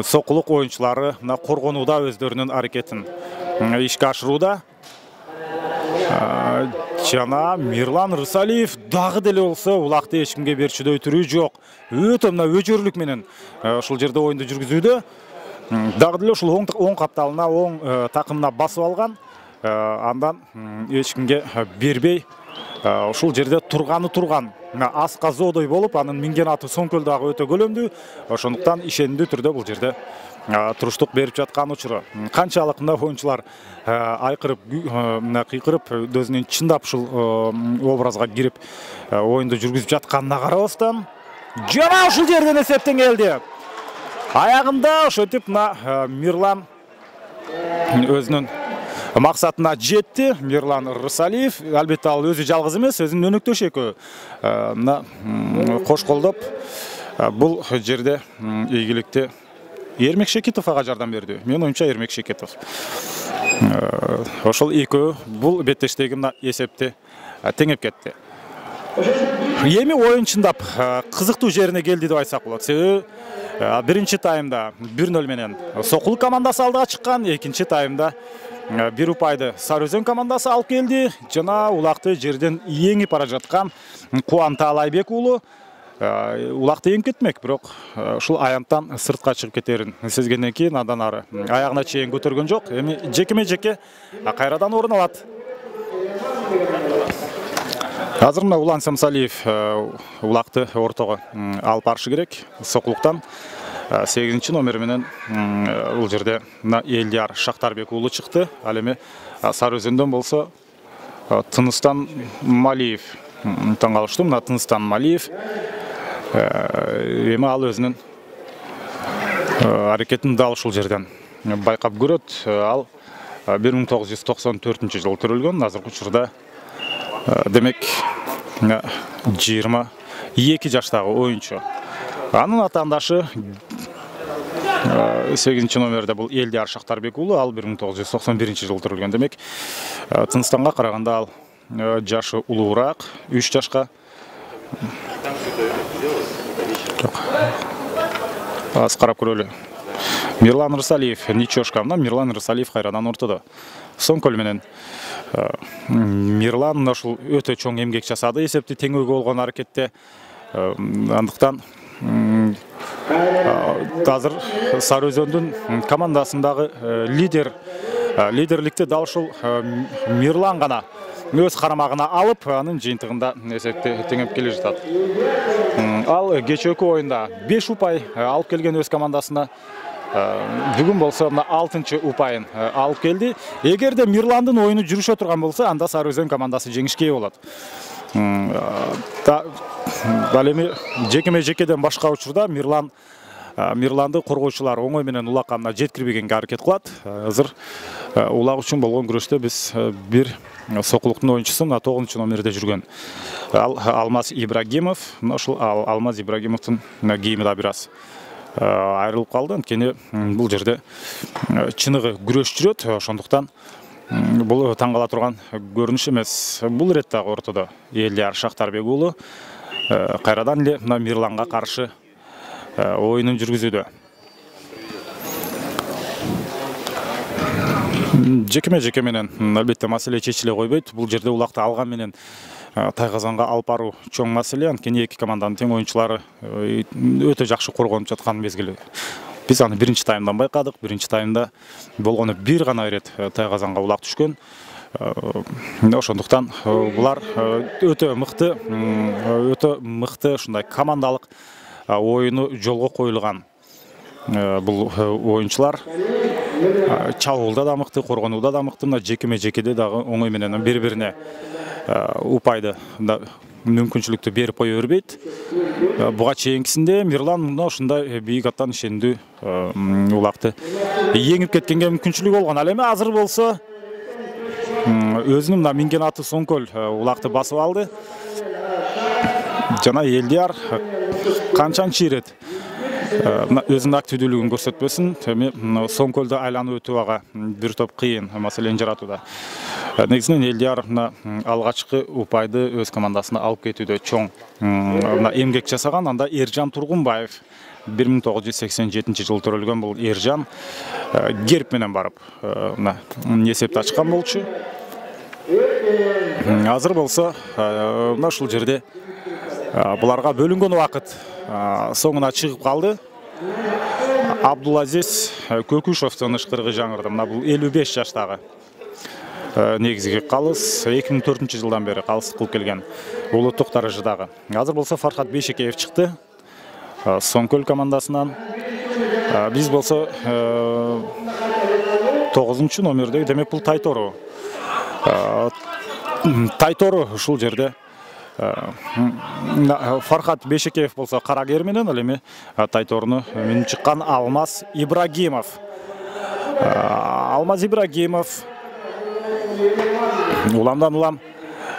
Сокулук оюнчулары коргонууда өздөрүнүн аракетин ишке ашырууда. Жана Мирлан Рысалиев дагы деле болсо улакты эчкимге берчүдөй түрү жок. Өтө өжөрлүк менен ушул жерде оюнду жүргүзүүдө. Дагы деле ушул оң капталына, оң такымына басып алган. Андан эчкимге бербей ушул жерде турган. Аска зоодой болуп, анын минген аты Соңкөл дагы өтө көлөмдүү. Ошондуктан ишенимдүү түрдө бул жерде туруштук берип жаткан учуру. Канчалык оюнчулар айкырып, кыйкырып, өзүнүн чындап ушул образга кирип оюнду жүргүзүп жатканына карабастан, жана ушул жерден эсептен келди. Аягында ошентип Мирлан өзүнүн максатына жетти. Мирлан Рысалиев, албетте ал өзү жалгыз эмес, өзүнүн өнөктөшү экөө кош колдоп бул жерде ийгиликти Эрмек Шекетов ага жардам берди. Менин оюмча Эрмек Шекетов. Ошол экөө бул беттештеги эсепти теңеп кетти. Эми оюн чындап кызыктуу жерине келди деп айтсак болот. Себеби биринчи таймда 1-0 менен Сокулук командасы алдыга чыккан, экинчи таймда бир упайды Сары Өзөн командасы алып келди. Жана улакты жерден эңип бара жаткан Кубан Таалайбек уулу улакты эңип кетмек, бирок ушул аянттан сыртка чыгып кетерин сезгенден кийин андан ары аягына чейин көтөргөн жок. Эми жекеме-жеке кайрадан орун алат. Азыр Улан Самсалиев улакты ортого алып барышы керек. Сокулуктан 8-чи номер менен бул жерде Элдияр Шактарбек уулу чыкты. Ал эми Сары Өзөндөн болсо Тыныстан Малиев таң калыштым. Тыныстан Малиев эми ал өзүнүн аракетин дал ушул жерден байкап көрөт. Ал 1994-жылы төрөлгөн. Азыркы учурда демек 22 жаштагы оюнчу. Анын атаандашы 8-чи номерде бул Элдияр Шактарбек уулу, ал 1991-жылы төрөлгөн. Демек Тыныстанга караганда ал жашы улуураак, 3 жашка. Аз карап көрөлү. Мирлан Рысалиев ничошка. Мирлан Рысалиев кайрадан ортодо. Соңкөл менен Мирлан ушул өтө чоң эмгек жасады. Эсепти теңөөгө болгон аракетте. Андыктан азыр Сары Өзөндүн командасындагы лидерликти дал ушул Мирлан гана өз карамагына алып, анын жыйынтыгында эсепти теңеп келе жатат. Ал кечээкү оюнда 5 упай алып келген өз командасына. Бүгүн болсо 6-чы упайын алып келди. Эгерде Мирландын оюну жүрүшө турган болсо, анда Сары Өзөн командасы жеңишке ээ болот. Ал эми жекеме-жекеден башка учурда Мирланды коргоочулар оңой менен улакка жеткирбегенге аракет кылат. Азыр улак үчүн болгон күрөштө биз бир Сокулуктун оюнчусу 9-чу номерде жүргөн Алмаз Ибрагимов, ошол Алмаз Ибрагимовдун кийими да бир аз айрылып калды. Анткени бул жерде чыныгы күрөш жүрөт. Ошондуктан бул таң кала турган көрүнүш эмес. Бул иретте ортодо Элдияр Шактарбек уулу кайрадан эле Мирланга каршы оюнун жүргүзүүдө. Жекеме-жеке менен албетте маселе чечиле койбойт. Бул жерде улакты алган менен Тайгазанга алып баруу чоң маселе. Анткени эки команданын тең оюнчулары өтө жакшы коргонуп жаткан мезгили. Биз аны биринчи таймдан байкадык. Биринчи таймда болгону бир гана ирет Тайгазанга улак түшкөн. Ошондуктан булар өтө мыкты ушундай командалык оюну жолго коюлган бул оюнчулар. Чабуулда да мыкты, коргонууда да мыкты, жекеме-жекеде дагы оңой менен бири-бирине упайды мүмкүнчүлүктү берип кое бербейт. Буга чейинкисинде Мирлан мына ушундай бийик аттан ишендүү улакты еңип кеткенге мүмкүнчүлүгү болгон. Ал эми азыр болсо өзүнүн мына минген аты Соңкөл улакты басып алды. Жана Элдияр канчанчы ирет өзүнүн активдүүлүгүн көрсөтпөсүн, эми Соңкөлдү айланып өтүүгө бир топ кыйын маселени жаратууда. Негизинен Элдияр алгачкы упайды өз командасына алып кетүүдө чоң эмгек жасаган. Анда Эржан Тургунбаев 1987 жылы төрөлгөн бул Эржан герб менен барып эсепти ачкан болчу. Азыр болсо мына ушул жерде буларга бөлүнгөн убакыт соңуна чыгып калды. Абдулазиз Көкүшевдин ышкырыгы жаңырды. Мына бул 55 жаштагы негизги калыс 2004 жылдан бери калыс кылып келген улуттук даражадагы. Азыр болсо Фархат Бейшекеев чыкты Соңкөл командасынан. Биз болсо 9 номердеги, демек бул Тайтору. Тайтору ушул жерде Фархат Бейшекеев болсо карагер менен, ал эми Тайторуну минип чыккан Алмаз Ибрагимов. Алмаз Ибрагимов уламдан улам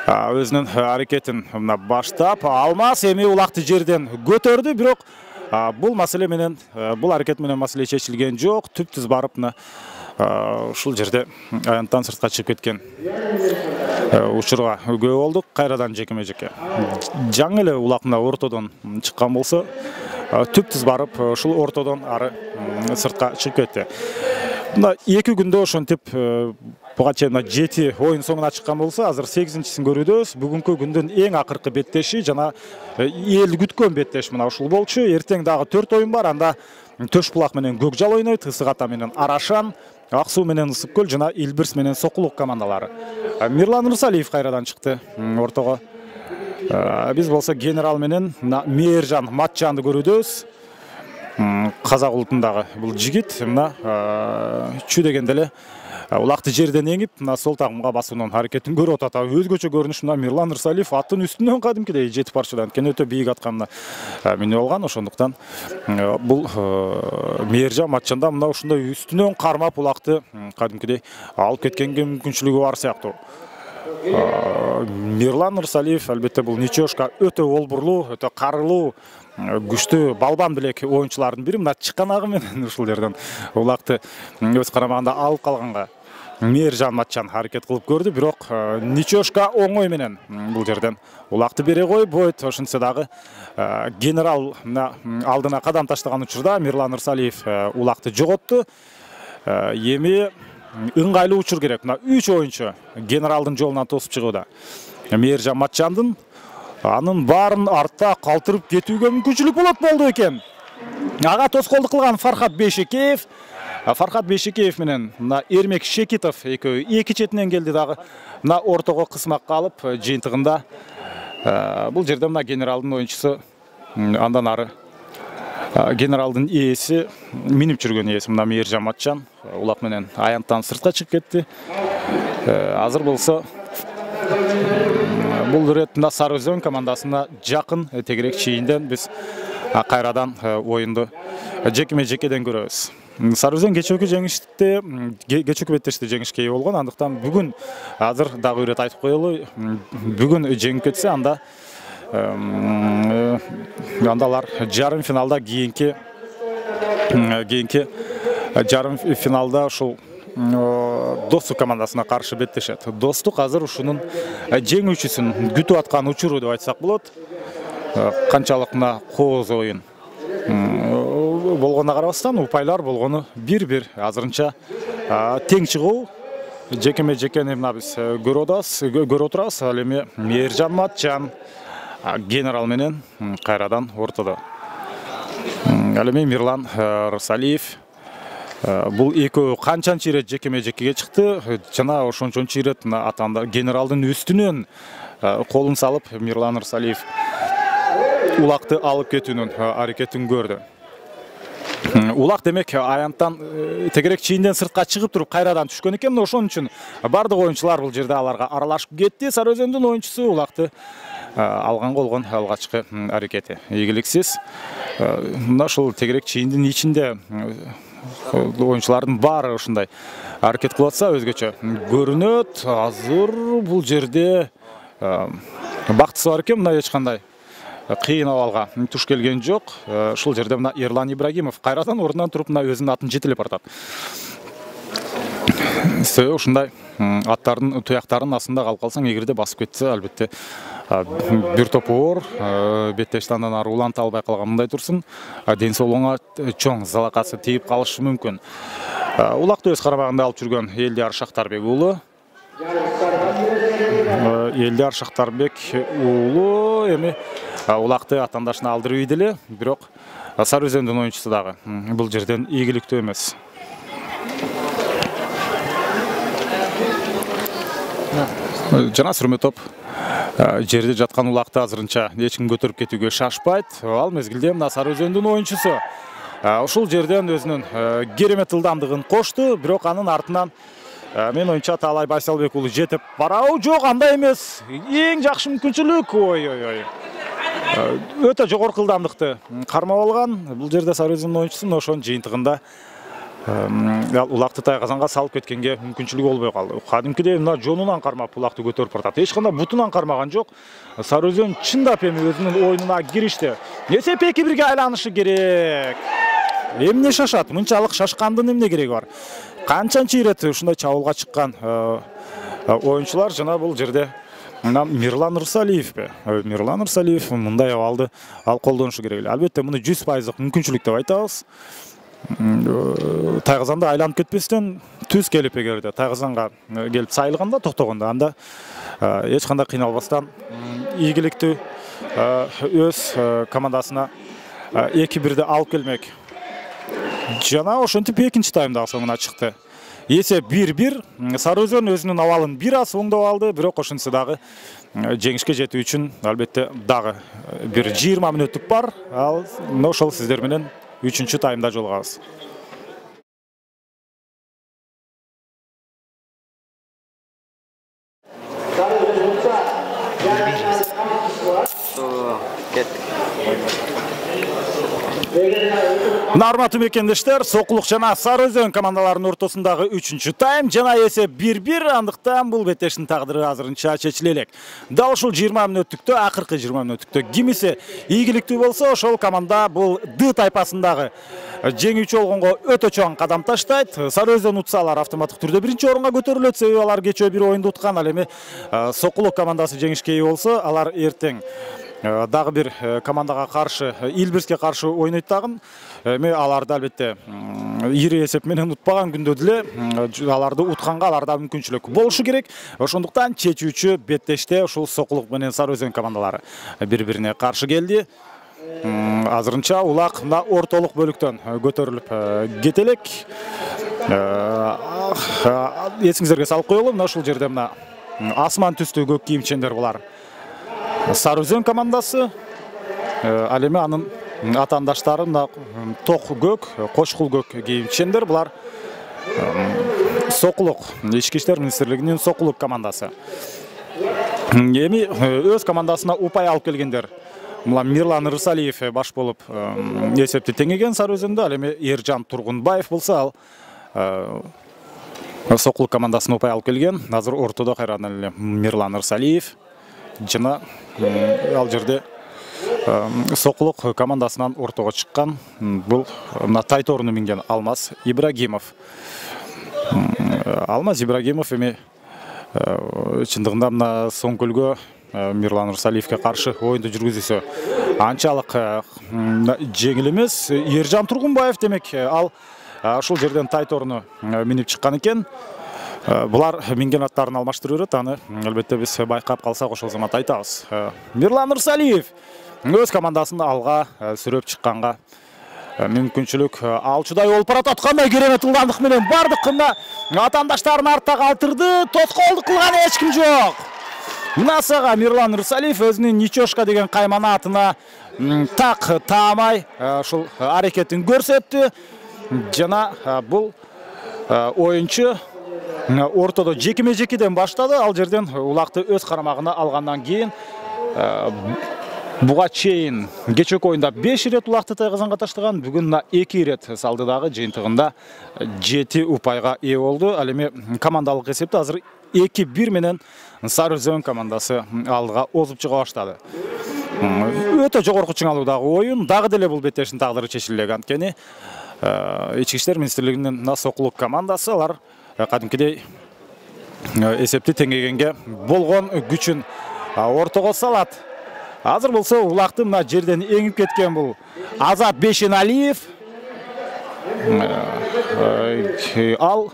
өзүнүн аракетин баштап, Алмаз эми улакты жерден көтөрдү, бирок бул маселе менен, бул аракет менен маселе чечилген жок. Түп-түз барып ушул жерде аянттан сыртка чыгып кеткен учурга күбө болдук. Кайрадан жекеме-жеке жаңы эле улак ортодон чыккан болсо, түп-түз барып ушул ортодон ары сыртка чыгып кетти. Мына 2 күндө ошентип буга чейин 7 оюн соңуна чыккан болсо, азыр 8-син көрүүдөбүз. Бүгүнкү күндүн эң акыркы беттеши жана эл күткөн беттеш мына ушул болчу. Эртең дагы 4 оюн бар. Анда Төш булак менен Көкжал ойнойт, Ысык Ата менен Арашан, Ак суу менен Ысык көл жана Илбирс менен Сокулук командалары. Мирлан Рысалиев кайрадан чыкты ортого. Биз болсо Генерал менен Мээржан Матчанды көрүүдөбүз. Казак улутундагы бул жигит мына чү дегенде эле улакты жерден эңип, мына сол тагымга басуунун аракетин көрүп атат. Өзгөчө көрүнүш мына Мирлан Рысалиев аттын үстүнөн кадимкидей жетип барчыдан экен, өтө бийик атка минип алган. Ошондуктан бул Мээржан Матчанда мына ушундай үстүнөн кармап улакты кадимкидей алып кеткенге мүмкүнчүлүгү бар сыяктуу. Мирлан Рысалиев албетте бул Ничошка өтө олбурлуу, өтө карылуу, күчтүү балбан билек оюнчулардын бири. Мына чыкканагы менен ушул жерден улакты өз карамагында алып калганга Мээржан Матчан аракет кылып көрдү, бирок Ничошка оңой менен бул жерден улакты бере койбойт. Ошентсе дагы Генерал алдына кадам таштаган учурда Мирлан Рысалиев улакты жоготту. Эми ыңгайлуу учур керек. Мына 3 оюнчу Генералдын жолунан тосуп чыгууда. Мээржан Матчандын анын баарын артта калтырып кетүүгө мүмкүнчүлүк болду экен. Ага тоскоолдук кылган Фархат Бейшекеев. Фархат Бейшекеев менен мына Эрмек Шекитов экөө эки четинен келди дагы. Мына ортого кысмакка алып жыйынтыгында бул жерде мына Генералдын оюнчусу андан ары Генералдын ээси минип жүргөн ээси мына Мээржан Матчан улак менен аянттан сыртка чыгып кетти. Азыр болсо бул рет мына Сары Өзөн командасына жакын тегерек чийинден биз кайрадан оюнду жекеме-жекеден көрөбүз. Сары Өзөн кечээки беттеште жеңишке ээ болгон. Андыктан бүгүн азыр дагы ирет айтып коелу, бүгүн жеңип кетсе анда андалар жарым финалда кийинки жарым финалда ушул Достук командасына каршы беттешет. Достук азыр ушунун жеңүүчүсүн күтүп аткан учуру деп айтсак болот. Канчалык мына кооз оюн болгонуна карабастан упайлар болгону бир-бир азырынча тең чыгуу. Жекеме-жекени мына биз көрүп отурабыз. Ал эми Мээржан Матчан Генерал менен кайрадан ортодо. Ал эми Мирлан Рысалиев Бул экөө канчанчы ирет жекеме-жекеге чыкты жана ошончончу ирет атаандар генералдын үстүнөн колун салып Мирлан Ырсалиев улакты алып кетүүнүн аракетин көрдү. Улак демек аянттан тегерек чийинден сыртка чыгып туруп кайрадан түшкөн экен. Ошон үчүн бардык оюнчулар бул жерде аларга аралашып кетти. Сары Өзөндүн оюнчусу улакты алган болгон алгачкы аракети ийгиликсиз. Мына ушул тегерек чийиндин ичинде оюнчулардын баары ушундай аракет кылып атса өзгөчө көрүнөт. Азыр бул жерде бактысы бар экен, мына эч кандай кыйын абалга туш келген жок. Ушул жерде мына Эрлан Ибрагимов кайрадан ордунан туруп мына өзүнүн атын жетелеп баратат. Ушундай аттардын туяктарынын астында калып калсаң, эгерде басып кетсе, албетте бир топ оор беттешти андан ары уланта албай калган мындай турсун. Ден соолугуңа чоң залакасы тийип калышы мүмкүн. Улакты өз карамагында алып жүргөн Элдияр Шактарбек уулу. Элдияр Шактарбек уулу эми улакты атаандашына алдырып ийди эле, бирок Сары Өзөндүн оюнчусу дагы бул жерден ийгиликтүү эмес. Жана сүрмө топ жерде жаткан улакты азырынча эч ким көтөрүп кетүүгө шашпайт. Ал мезгилде мына Сары Өзөндүн оюнчусу ушул жерден өзүнүн керемет ылдамдыгын кошту, бирок анын артынан мен оюнчу Таалай Байсалбек уулу жетип барабы? Жок, андай эмес. Эң жакшы мүмкүнчүлүк. Ой. Өтө жогорку ылдамдыкты кармап алган. Бул жерде Сары Өзөндүн оюнчусу ошонун жыйынтыгында улакты тайгазанга салып кеткенге мүмкүнчүлүгү болбой калды. Кадимкидей мына жонунан кармап улакты көтөрүп баратат. Эч кандай бутунан кармаган жок. Сары Өзөн чындап эми өзүнүн оюнуна киришти. Эсеп 2-1-ге айланышы керек. Эмне шашат? Мынчалык шашкандын эмне кереги бар? Канчанчы ирет ушундай чабуулга чыккан оюнчулар жана бул жерде Мирлан Ырсалиевпи? Мирлан Ырсалиев мындай абалды ал колдонушу керек эле. Албетте муну 100% мүмкүнчүлүк деп айтабыз. Тайгазанды айланып кетпестен түз келип эгерде тайгазанга келип сайылганда, токтогондо анда эч кандай кыйналбастан ийгиликтүү өз командасына 2-1-де алып келмек. Жана ошентип экинчи таймда соңуна чыкты. Эсеп 1-1. Сары Өзөн өзүнүн абалын бир аз оңдоп алды, бирок ошентсе дагы жеңишке жетүү үчүн албетте дагы бир 20 мүнөттүк бар. Ал ошол сиздер менен 3-чү таймда жолугабыз. Урматтуу мекендештер, Сокулук жана Сары Өзөн командаларынын ортосундагы 3-чү тайм жана эсеп 1-1, андыктан бул беттештин тагдыры азырынча чечиле элек. Дал ушул 20 мүнөттүктө, акыркы 20 мүнөттүктө кимиси ийгиликтүү болсо, ошол команда бул Д тайпасындагы жеңүүчү болгонго өтө чоң кадам таштайт. Сары Өзөн утса алар автоматтык түрдө биринчи орунга көтөрүлөт, себеби алар кечээ бир оюнду уткан. Ал эми Сокулук командасы жеңишке ээ болсо, алар эртең дагы бир командага каршы, Илбирске каршы ойнойт дагы. Эми аларды албетте ири эсеп менен утпаган күндө деле аларды утканга аларда мүмкүнчүлүк болушу керек. Ошондуктан чечүүчү беттеште ушул Сокулук менен Сары Өзөн командалары бири-бирине каршы келди. Азырынча улак мына ортолук бөлүктөн көтөрүлүп кетелек. Эсиңиздерге салып коелу, мына ушул жерде мына асман түстүү көк кийимчендер булар Сары Өзөн командасы. Ал эми анын атаандаштары мына ток көк, кочкул көк кийимчендер. Булар Сокулук, Ички иштер министрлигинин Сокулук командасы. Эми өз командасына упай алып келгендер. Мына Мирлан Ырсалиев баш болуп эсепти теңеген Сары Өзөндө. Ал эми Эржан Тургунбаев болсо, ал Сокулук командасына упай алып келген. Азыр ортодо кайрадан эле Мирлан Ырсалиев жана ал жерде Сокулук командасынан ортого чыккан бул мына тайтооруну минген Алмаз Ибрагимов. Алмаз Ибрагимов эми чындыгында мына Соңкөлгө Мирлан Ырсалиевке каршы оюнду жүргүзүүсү анчалык жеңил эмес. Эржан Тургунбаев демек ал ушул жерден тайтооруну минип чыккан экен. Булар минген аттарын алмаштырып берет, аны албетте биз байкап калсак ошол замат айтабыз. Мирлан Ырсалиев өз командасын алга сүрөп чыкканга мүмкүнчүлүк алчудай болуп баратат. Кандай керемет ылдамдык менен бардык мына атаандаштарын артта калтырды. Тоскоолдук кылган эч ким жок. Мына сага Мирлан Рысалиев өзүнүн Ничошка деген кайманаатына так таамай ушул аракетин көрсөттү. Жана бул оюнчу ортодо жекиме-жекиден баштады. Ал жерден улакты өз карамагына алгандан кийин буга чейин кечээки оюнда 5 ирет улакты тайгазанга таштаган, бүгүн 2 ирет салды дагы, жыйынтыгында 7 упайга ээ болду. Ал эми командалык эсепте азыр 2-1 менен Сары Өзөн командасы алдыга озуп чыга баштады. Өтө жогорку чыңалуудагы оюн, дагы деле бул беттештин тагдыры чечилек. Анткени Ички иштер министрлигинин Сокулук командасы алар кадимкидей эсепти теңегенге болгон күчүн ортого салат. Азыр болсо улакты мына жерден эңип кеткен бул Азат Бешеналиев. Ал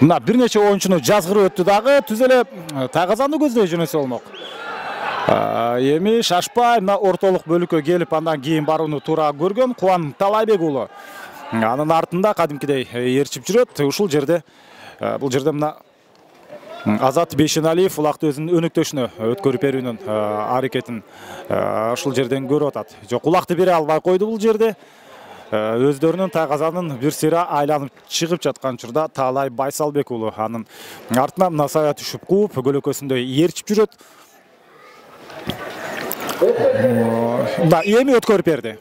мына бир нече оюнчуну жазгырып өттү дагы, түз эле тайгазанды көздөй жөнөсө болмок. Эми шашпай мына ортолук бөлүккө келип андан кийин барууну туура көргөн Кубан Талайбек уулу. Анын артында кадимкидей ээрчип жүрөт. Ушул жерде бул жерде мына Азат Бешеналиев улакты өзүнүн өнөктөшүнө өткөрүп берүүнүн аракетин ушул жерден көрүп атат. Жок, улакты бере албай койду бул жерде. Өздөрүнүн тайгазанын бир сыйра айланып чыгып жаткан учурда Таалай Байсалбек уулу анын артына мына сая түшүп кууп көлөкөсүндө ээрчип жүрөт. Мына эми өткөрүп берди.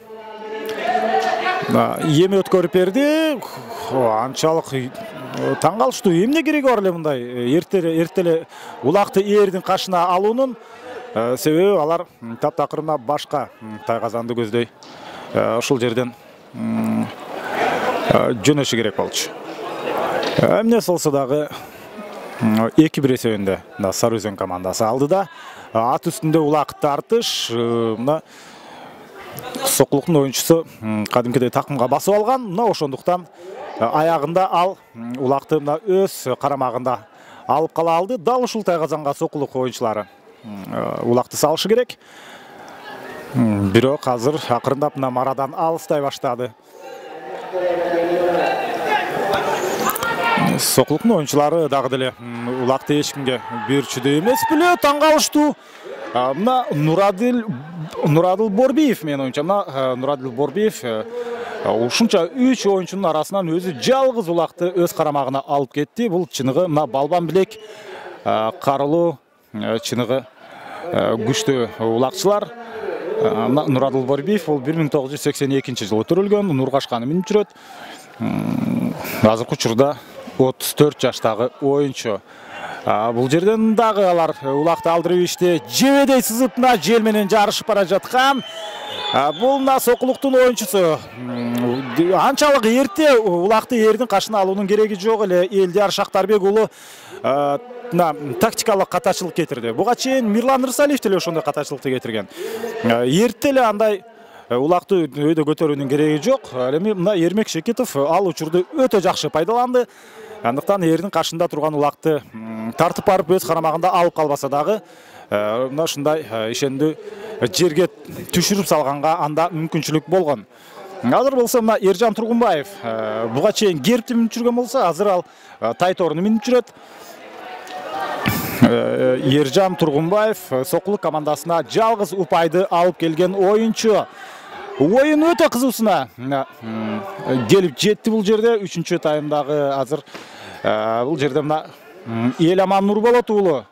Эми өткөрүп берди. Анчалык таң калыштуу. Эмне кереги бар эле мындай эртеле улакты ээрдин кашына алуунун? Себеби алар таптакыр мына башка тайгазанды көздөй ушул жерден жөнөшү керек болчу. Эмне болсо дагы 2-1 эсебинде Сары Өзөн командасы алды да, ат үстүндө улак тартыш мына Сокулуктун оюнчусу кадимкидей такымга басып алган. Мына ошондуктан аягында ал улакты мына өз карамагында алып кала алды. Дал ушул тайгазанга Сокулук оюнчулары улакты салышы керек. Бирок азыр акырындап мына марадан алыстай баштады. Сокулуктун оюнчулары дагы деле улакты эч кимге берчүдөй эмес беле, таң калыштуу. Мына Нурадыл Борбиев, менин оюнча, мына Нурадыл Борбиев ушунча 3 оюнчунун арасынан өзү жалгыз улакты өз карамагына алып кетти. Бул чыныгы мына балбан билек карылуу чыныгы күчтүү улакчылар. Мына Нурадыл Борбиев бул 1982-жылы төрөлгөн, Нургашканы минип жүрөт. Азыркы учурда 34 жаштагы оюнчу. Бул жерден дагы алар улакты алдырып иште жебедей сызып мына жел менен жарышып бара жаткан. Бул мына Сокулуктун оюнчусу. Анчалык эрте улакты ээрдин кашына алуунун кереги жок эле. Элдияр Шактарбек уулу мына тактикалык катачылык кетирди. Буга чейин Мирлан Рысалиев деле ошондой катачылыкты кетирген. Эрте эле андай улакты өйдө көтөрүүнүн кереги жок. Эми мына Эрмек Шекитов ал учурду өтө жакшы пайдаланды. Андыктан ээрдин кашында турган улакты тартып барып өз карамагында алып калбаса дагы мына ушундай ишендүү жерге түшүрүп салганга анда мүмкүнчүлүк болгон. Азыр болсо мына Эржан Тургунбаев буга чейин гербти минип жүргөн болсо, азыр ал тайторуну минип жүрөт. Эржан Тургунбаев Сокулук командасына жалгыз упайды алып келген оюнчу. Оюн өтө кызуусуна келип жетти бул жерде. 3-чү таймдагы азыр бул жерде мына Эламан Нурболот уулу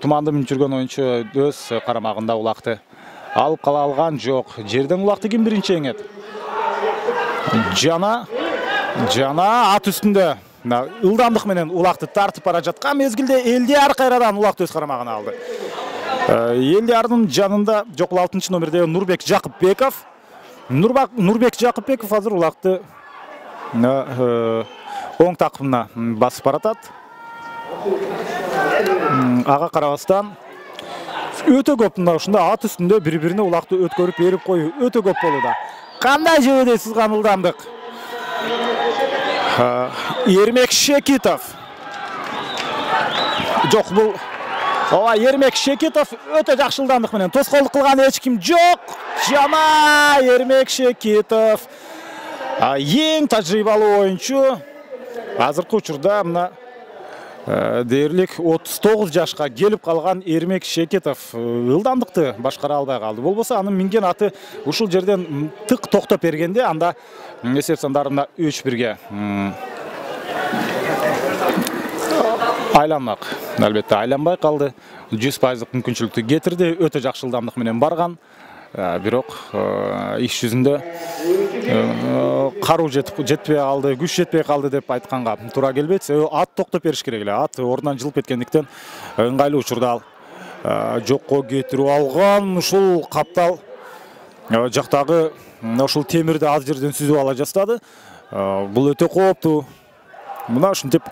туманды минип жүргөн оюнчу өз карамагында улакты алып кала алган жок. Жерден улакты ким биринчи эңет? Жана ат үстүндө ылдамдык менен улакты тартып бара жаткан мезгилде Элдияр кайрадан улакты өз карамагына алды. Элдиярдын жанында жок 6-чы номерде Нурбек Жакыпбеков. Нурбек Жакыпбеков азыр улакты оң такымына басып баратат. Ага карабастан өтө көп мына ушунда ат үстүндө бири-бирине улакты өткөрүп берип коюу өтө көп болууда. Кандай жебедей сызган ылдамдык. Эрмек Шекитов. Жок, бул Эрмек Шекитов өтө жакшы ылдамдык менен тоскоолдук кылган эч ким жок. Жана Эрмек Шекитов Ең тажрыйбалуу оюнчу азыркы учурда мына дээрлик 39 жашка келип калган Эрмек Шекетов ылдамдыкты башкара албай калды. Болбосо анын минген аты ушул жерден тык токтоп бергенде анда эсеп сандарында 3-1 айланмак. Албетте айланбай калды. 100% мүмкүнчүлүктү кетирди. Өтө жакшы ылдамдык менен барган. Бирок иш жүзүндө каруу жетпей калды, күч жетпей калды деп айтканга туура келбейт. Ат токтоп бериш керек эле. Ат ордунан жылып кеткендиктен ыңгайлуу учурда ал жокко кетирип алган. Ушул каптал жактагы ушул темирди аз жерден сүзүп ала жастады. Бул өтө кооптуу. Мына ушинтип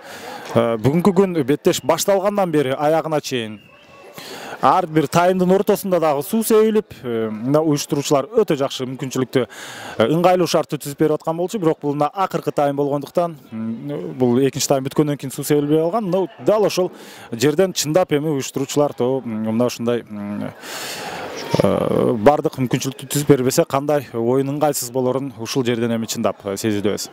бүгүнкү күн беттеш башталгандан бери аягына чейин ар бир таймдын ортосунда дагы суу себилип, уюштуруучулар өтө жакшы мүмкүнчүлүктү ыңгайлуу шартты түзүп берип аткан болчу, бирок бул акыркы тайм болгондуктан бул экинчи тайм бүткөндөн кийин суу себилбей калган. Дал ошол жерден чындап эми уюштуруучулар мына ушундай бардык мүмкүнчүлүктү түзүп бербесе кандай оюн ыңгайсыз болорун ушул жерден эми чындап сезидөбүз.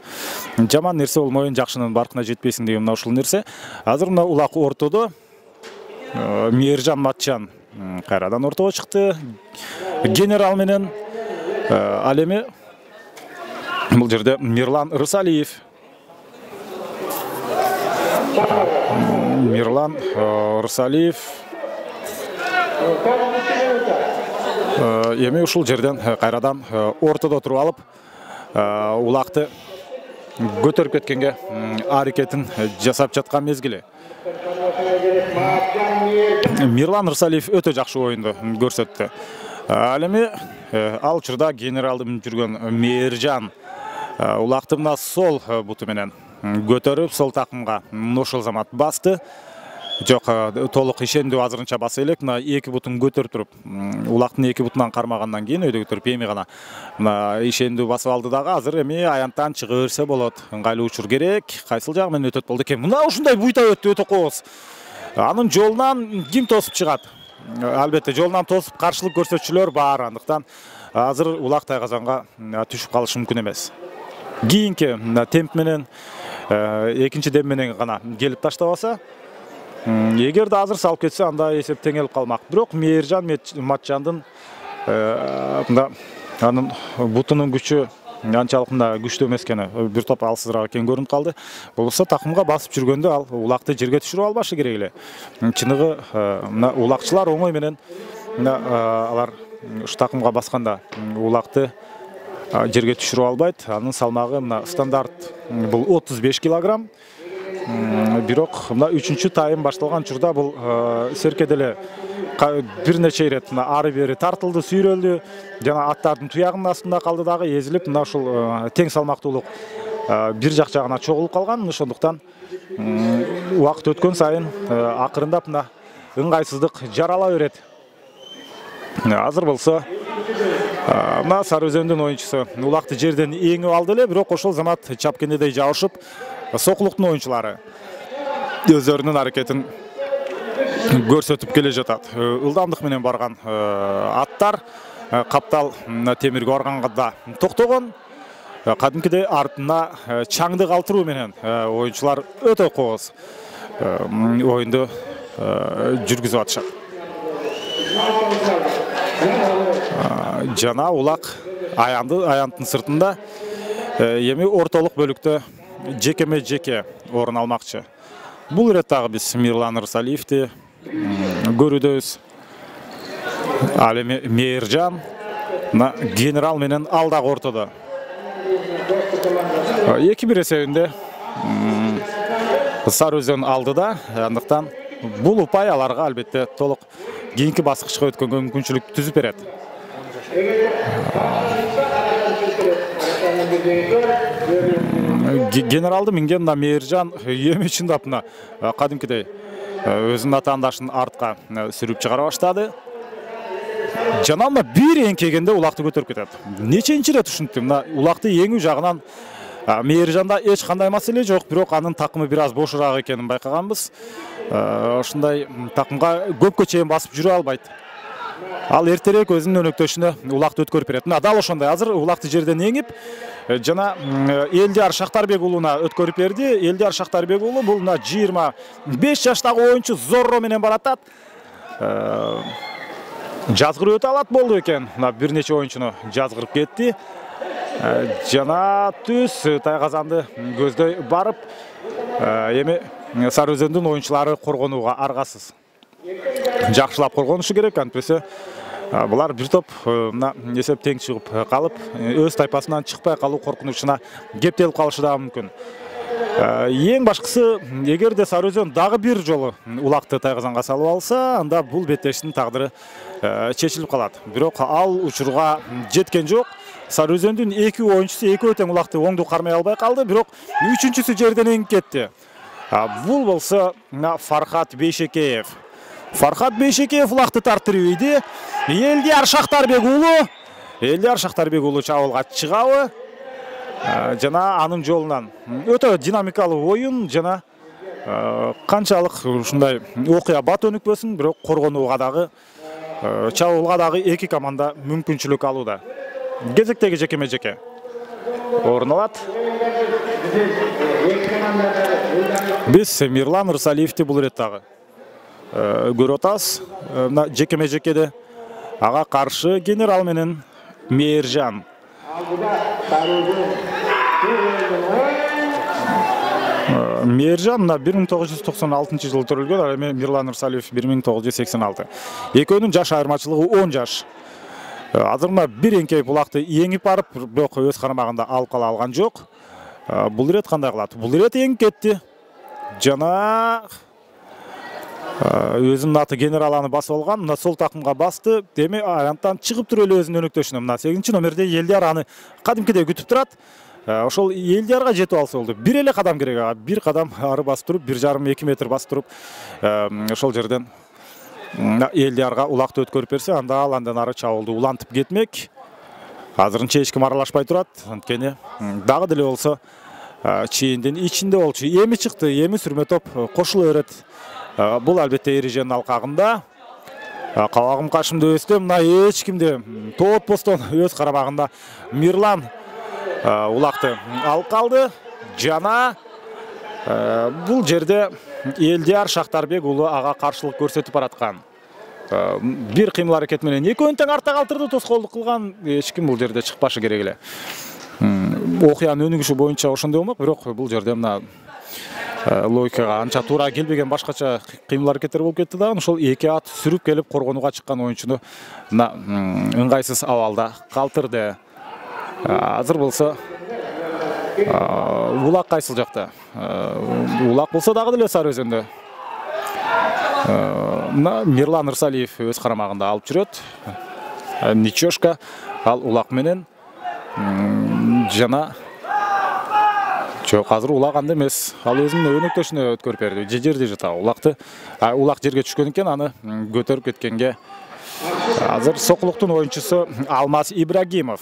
Жаман нерсе болмой, жакшынын баркына жетпейсиң деген мына ушул нерсе. Азыр мына улак ортодо Мейиржан Матчан кайрадан ортого чыкты. Генерал менен ал эми бул жерде Мирлан Рысалиев. Мирлан Рысалиев эми ушул жерден кайрадан ортодо туруп алып, улакты көтөрүп кеткенге аракетин жасап жаткан мезгили. Мирлан Рысалиев өтө жакшы оюнду көрсөттү. Ал эми ал учурда генералды минип жүргөн Мейиржан улакты мына сол буту менен көтөрүп, сол такымга ошол замат басты. Жок, толук ишендүү азырынча баса элек. Мына эки бутун көтөрүп туруп, улактын эки бутунан кармагандан кийин өйдө көтөрүп эми гана мына ишендүү басып алды дагы. Азыр эми аянттан чыга берсе болот. Ыңгайлуу учур керек. Кайсыл жагы менен өтөт болду экен? Мына ушундай буйта өттү, өтө кооз. Анын жолунан ким тосуп чыгат? Албетте жолунан тосуп каршылык көрсөтчүлөр бар, андыктан азыр улак тайгазанга түшүп калышы мүмкүн эмес. Кийинки темп менен, экинчи дем менен гана келип таштабаса, эгерде азыр салып кетсе, анда эсеп теңелип калмак. Бирок Мейиржан Матчандын анын бутунун күчү анчалык күчтүү эмес экени бир топ алсызыраак экен көрүнүп калды. Болбосо такымга басып жүргөндө ал улакты жерге түшүрүп албашы керек эле. Чыныгы мына улакчылар оңой менен алар ушу такымга басканда улакты жерге түшүрүп албайт. Анын салмагы мына стандарт бул 35 килограмм. Бирок мына 3-чү тайм башталган учурда бул серке деле бир нече ирет ары бери тартылды, сүйрөлдү, жана аттардын туягынын астында калды дагы, эзилип мына ушул тең салмактуулук бир жак жагына чогулуп калган. Ошондуктан убакыт өткөн сайын акырындап мына ыңгайсыздык жарала берет. Азыр болсо мына Сары Өзөндүн оюнчусу улакты жерден эңип алды эле, бирок ошол замат чапкендедей жабышып, Сокулуктун оюнчулары өздөрүнүн аракетин көрсөтүп келе жатат. Ылдамдык менен барган аттар каптал темирге барганда токтогон. Кадимкидей артына чаңды калтыруу менен оюнчулар өтө кооз оюнду жүргүзүп атышат. Жана улак аянттын сыртында эми ортолук бөлүктө жекеме жеке орун алмакчы. Бул ирет дагы биз Мирлан Рысалиевди көрүүдөбүз. Ал эми Мейиржан генерал менен ал дагы ортодо. 2-1 эсебинде Сары Өзөн алдыда. Андыктан бул упай аларга албетте толук кийинки баскычка өткөнгө мүмкүнчүлүк түзүп берет. Генералды минген Мейиржан эми чындап кадимкидей өзүнүн атаандашын артка сүрүп чыгара баштады. Жана бир эңкегенде улакты көтөрүп кетет. Неченчи ирет ушинтип улакты эңүү жагынан Мейиржанда эч кандай маселе жок, бирок анын такымы бир аз бошураак экенин байкаганбыз. Ошондой такымга көпкө чейин басып жүрө албайт. Ал эртерээк өзүнүн өнөктөшүнө улакты өткөрүп берет. Мына дал ошондой азыр улакты жерден эңип жана Элдияр Шактарбек уулуна өткөрүп берди. Элдияр Шактарбек уулу бул мына 25 жаштагы оюнчу зорро менен баратат. Жазгырып өтө алат болду экен. Мына бир нече оюнчуну жазгырып кетти. Жана түз Тайгазанды көздөй барып, эми Сары Өзөндүн оюнчулары коргонууга аргасыз. Жакшылап коргонушу керек, антпесе булар бир топ эсеп тең чыгып калып, өз тайпасынан чыкпай калуу коркунучуна кептелип калышы да мүмкүн. Эң башкысы, эгерде Сары Өзөн дагы бир жолу улакты Тайгазанга салып алса, анда бул беттештин тагдыры чечилип калат. Бирок ал учурга жеткен жок. Сары Өзөндүн 2 оюнчусу экөө тең улакты оңду кармай албай калды, бирок 3-чүсү жерден эңип кетти. Бул болсо Фархат Бейшекеев. Фархат Бейшекеев улакты тартырып ийди. Элдияр Шактарбек уулу чабуулга чыгабы? Жана анын жолунан өтө динамикалуу оюн жана канчалык ушундай окуя бат өнүкпөсүн, бирок коргонууга дагы чабуулга дагы эки команда мүмкүнчүлүк алууда. Кезектеги жекеме-жеке орун алат. Биз Мирлан Ырсалиевди бул иреттагы көрүп атабыз. Мына жекеме-жекеде ага каршы генерал менен Мээржан. Мээржан 1996 жылы төрөлгөн, ал эми Мирлан Ырсалиев 1986. Экөөнүн жаш айырмачылыгы 10 жаш. Азыр мына бир эңкейип улакты эңип барып, бирок өз карамагында алып кала алган жок. Бул ирет кандай кылат? Бул ирет эңип кетти. Жана өзүнүн аты генерал аны басып алган. Мына сол такымга басты. Эми аянттан чыгып туруп эле өзүнүн өнөктөшүнө. Мына 8-номерде Элдияр аны кадимкидей күтүп турат. Ошол Элдиярга жетип алса болду. Бир эле кадам керек ага. Бир кадам ары басып туруп, 1,5-2 метр басып туруп, ошол жерден Элдиярга улакты өткөрүп берсе, анда ал андан ары чабуулду улантып кетмек. Азырынча эч ким аралашпай турат. Анткени дагы деле болсо чейиндин ичинде болчу. Эми чыкты, эми сүрмө топ кошула берет. Бул албетте эреженин алкагында. Кабагым кашымды өстө, мына эч кимде тоотпостон өз карамагында Мирлан улакты алып калды. Жана бул жерде Элдияр Шактарбек уулу ага каршылык көрсөтүп бараткан. Бир кыймыл аракет менен экөөнү тең артта калтырды, тоскоолдук кылган. Эч ким бул жерде чыкпашы керек эле. Окуянын өнүгүшү боюнча ошондой болмок, бирок бул жерде мына логикага анча туура келбеген башкача кыймыл аракеттер болуп кетти да. Ошол эки ат сүрүп келип коргонууга чыккан оюнчуну мына ыңгайсыз абалда калтырды. Азыр болсо улак кайсыл жакта? Улак болсо дагы деле Сары Өзөндө. Мына Мирлан Ырсалиев өз карамагында алып жүрөт. Ничошка ал улак менен жана жок, азыр улак анда эмес. Ал өзүнүн өнөктөшүнө өткөрүп берди. Жерде жата улакты. Улак жерге түшкөн экен, аны көтөрүп кеткенге азыр Сокулуктун оюнчусу Алмаз Ибрагимов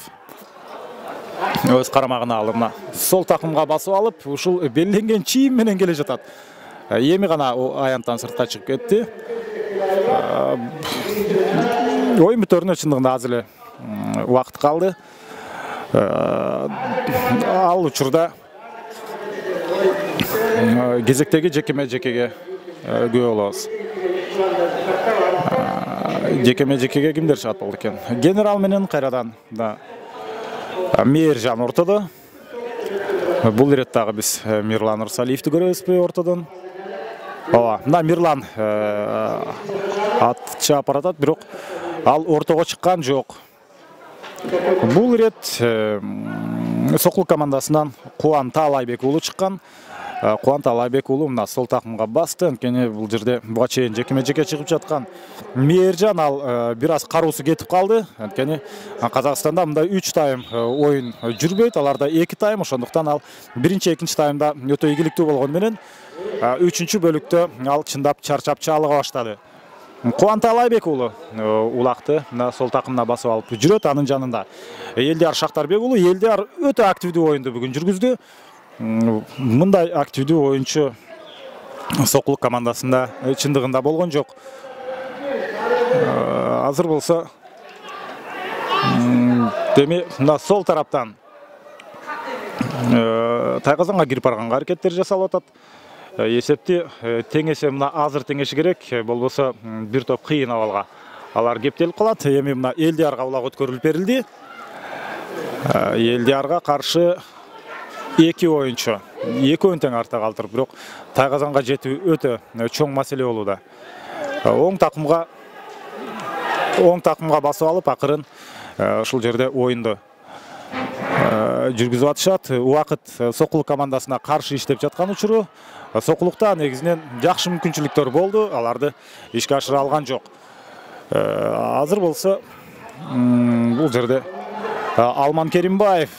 өз карамагына алып, сол такымга басып алып, ушул белленген чийим менен келе жатат. Эми гана аянттан сыртка чыгып кетти. Оюн бүтөрүнө чындыгында аз эле убакыт калды. Ал учурда кезектеги жекеме-жекеге күбө болобуз. Жекеме-жекеге кимдер чыгат болду экен? Генерал менен кайрадан да Мээржан ортодо. Бул иреттагы биз Мирлан Ырсалиевди көрөбүзбү ортодон? Ооба, мына Мирлан ат чаап баратат, бирок ал ортого чыккан жок. Бул ирет Сокулук командасынан Кубан Таалайбек уулу чыккан. Кубан Таалайбек уулу мына сол такымга басты. Анткени бул жерде буга чейин жекеме-жеке чыгып жаткан Мээржан ал бир аз кароосу кетип калды. Анткени Казакстанда мындай 3 тайм оюн жүрбөйт, аларда 2 тайм, ошондуктан ал биринчи, экинчи таймда өтө ийгиликтүү болгону менен 3-чү бөлүктө ал чындап чарчап чаалыга баштады. Кубан Таалайбек уулу улакты мына сол такымына басып алып жүрөт. Анын жанында Элдияр Шактарбек уулу. Элдияр өтө активдүү оюнду бүгүн жүргүздү. Мындай активдүү оюнчу Сокулук командасында чындыгында болгон жок. азыр болсо деми мына сол тараптан Тайказанга кирип барганга аракеттер жасалып атат. Эсепти теңеше мына азыр теңеши керек, болбосо бир топ кыйын абалга алар кептелип калат. Эми мына Элдиярга улак өткөрүлүп берилди. Элдиярга каршы 2 оюнчу, 2 тең артта калтырып, бирок Тайказанга жетүү өтө чоң маселе болууда. Оң такымга басып алып, акырын ушул жерде оюнду жүргүзүп атышат. Убакыт Сокулук командасына каршы иштеп жаткан учуру. Сокулукта негизинен жакшы мүмкүнчүлүктөр болду, аларды ишке ашыра алган жок. Азыр болсо бул жерде Алман Керимбаев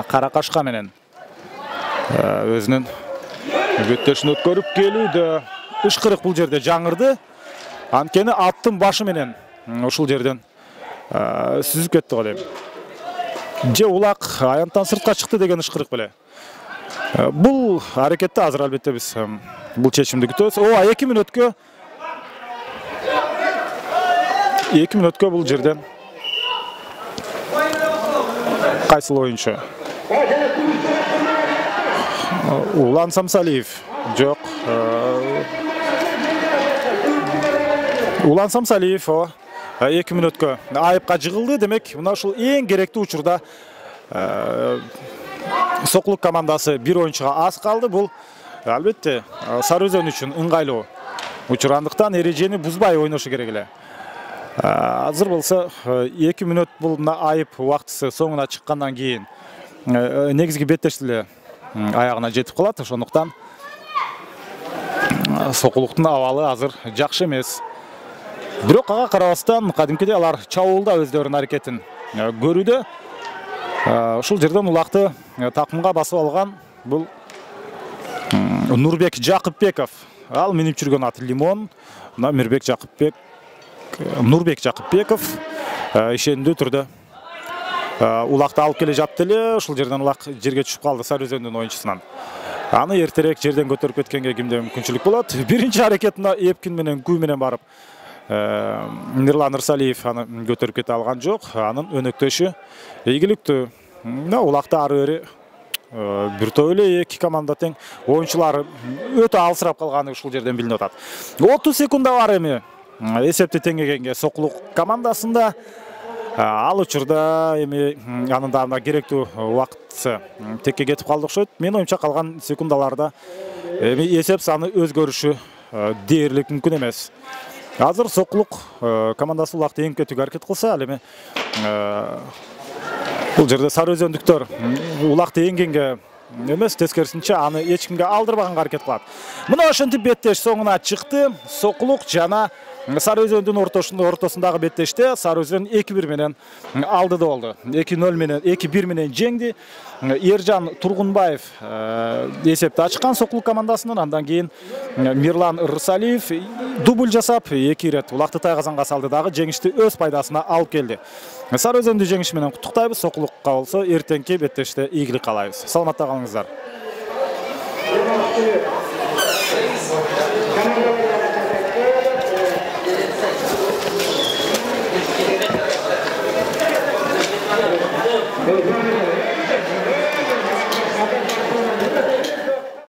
Каракашка менен өзүнүн беттешин өткөрүп келүүдө. Ышкырык бул жерде жаңырды. Анткени аттын башы менен ушул жерден сүзүп кетти го дейм. Же улак аянттан сыртка чыкты деген ышкырык беле. Бул аракетте азыр албетте биз бул чечимди күтөбүз. 2 мүнөткө бул жерден кайсыл оюнчу? Улан Самсалиев. Жок. Улан Самсалиев 2 мүнөткө айыпка жыгылды. Демек, мына ушул эң керектүү учурда Сокулук командасы бир оюнчуга аз калды. Бул албетте Сары Өзөн үчүн ыңгайлуу учурандыктан эрежени бузбай ойношу керек эле. Азыр болсо 2 мүнөт бул айып убактысы соңуна чыккандан кийин негизги беттеш эле аягына жетип калат. Ошондуктан Сокулуктун абалы азыр жакшы эмес. Бирок ага карабастан кадимкидей алар чабуулда өздөрүнүн аракетин көрүүдө. Ушул жерден улакты такымга басып алган бул Нурбек Жакыпбеков. Ал минип жүргөн аты Лимон. Нурбек Жакыпбеков ишендүү түрдө улакты алып келе жатты эле. Ушул жерден улак жерге түшүп калды Сары Өзөндүн оюнчусунан. Аны эртерээк жерден көтөрүп кеткенге кимде мүмкүнчүлүк болот. Биринчи аракетине Эпкин менен Күү менен барып Мирлан Ырсалиев аны көтөрүп кете алган жок. Анын өнөктөшү ийгиликтүү. Улакта ары бери бир топ эле 2 команда тең. Оюнчулары өтө алсырап калганы ушул жерден билинип атат. 30 секунда бар эми. Эсепти теңегенге Сокулук командасында. Ал учурда эми анын да керектүү убакыты текке кетип калды окшойт. Мен оюмча калган секундаларда эми эсеп саны өзгөрүшү дээрлик мүмкүн эмес. Азыр Сокулук командасы улакты эңип кетүүгө аракет кылса, ал эми бул жерде Сары Өзөндүктөр улакты эңгенге эмес, тескерисинче аны эч кимге алдырбаганга аракет кылат. Мына ошентип беттеш соңуна чыкты. Сокулук жана Сары Өзөндүн ортосундагы беттеште Сары Өзөн 2-1 менен алдыда болду. 2-0 менен 2-1 менен жеңди. Эржан Тургунбаев эсепти ачкан Сокулук командасынын. Андан кийин Мирлан Ырсалиев дубль жасап 2 ирет улакты Тайказанга салды, дагы жеңишти өз пайдасына алып келди. Сары Өзөндү жеңиш менен куттуктайбыз. Сокулукка болсо эртеңки беттеште ийгилик каалайбыз. Саламатта калыңыздар.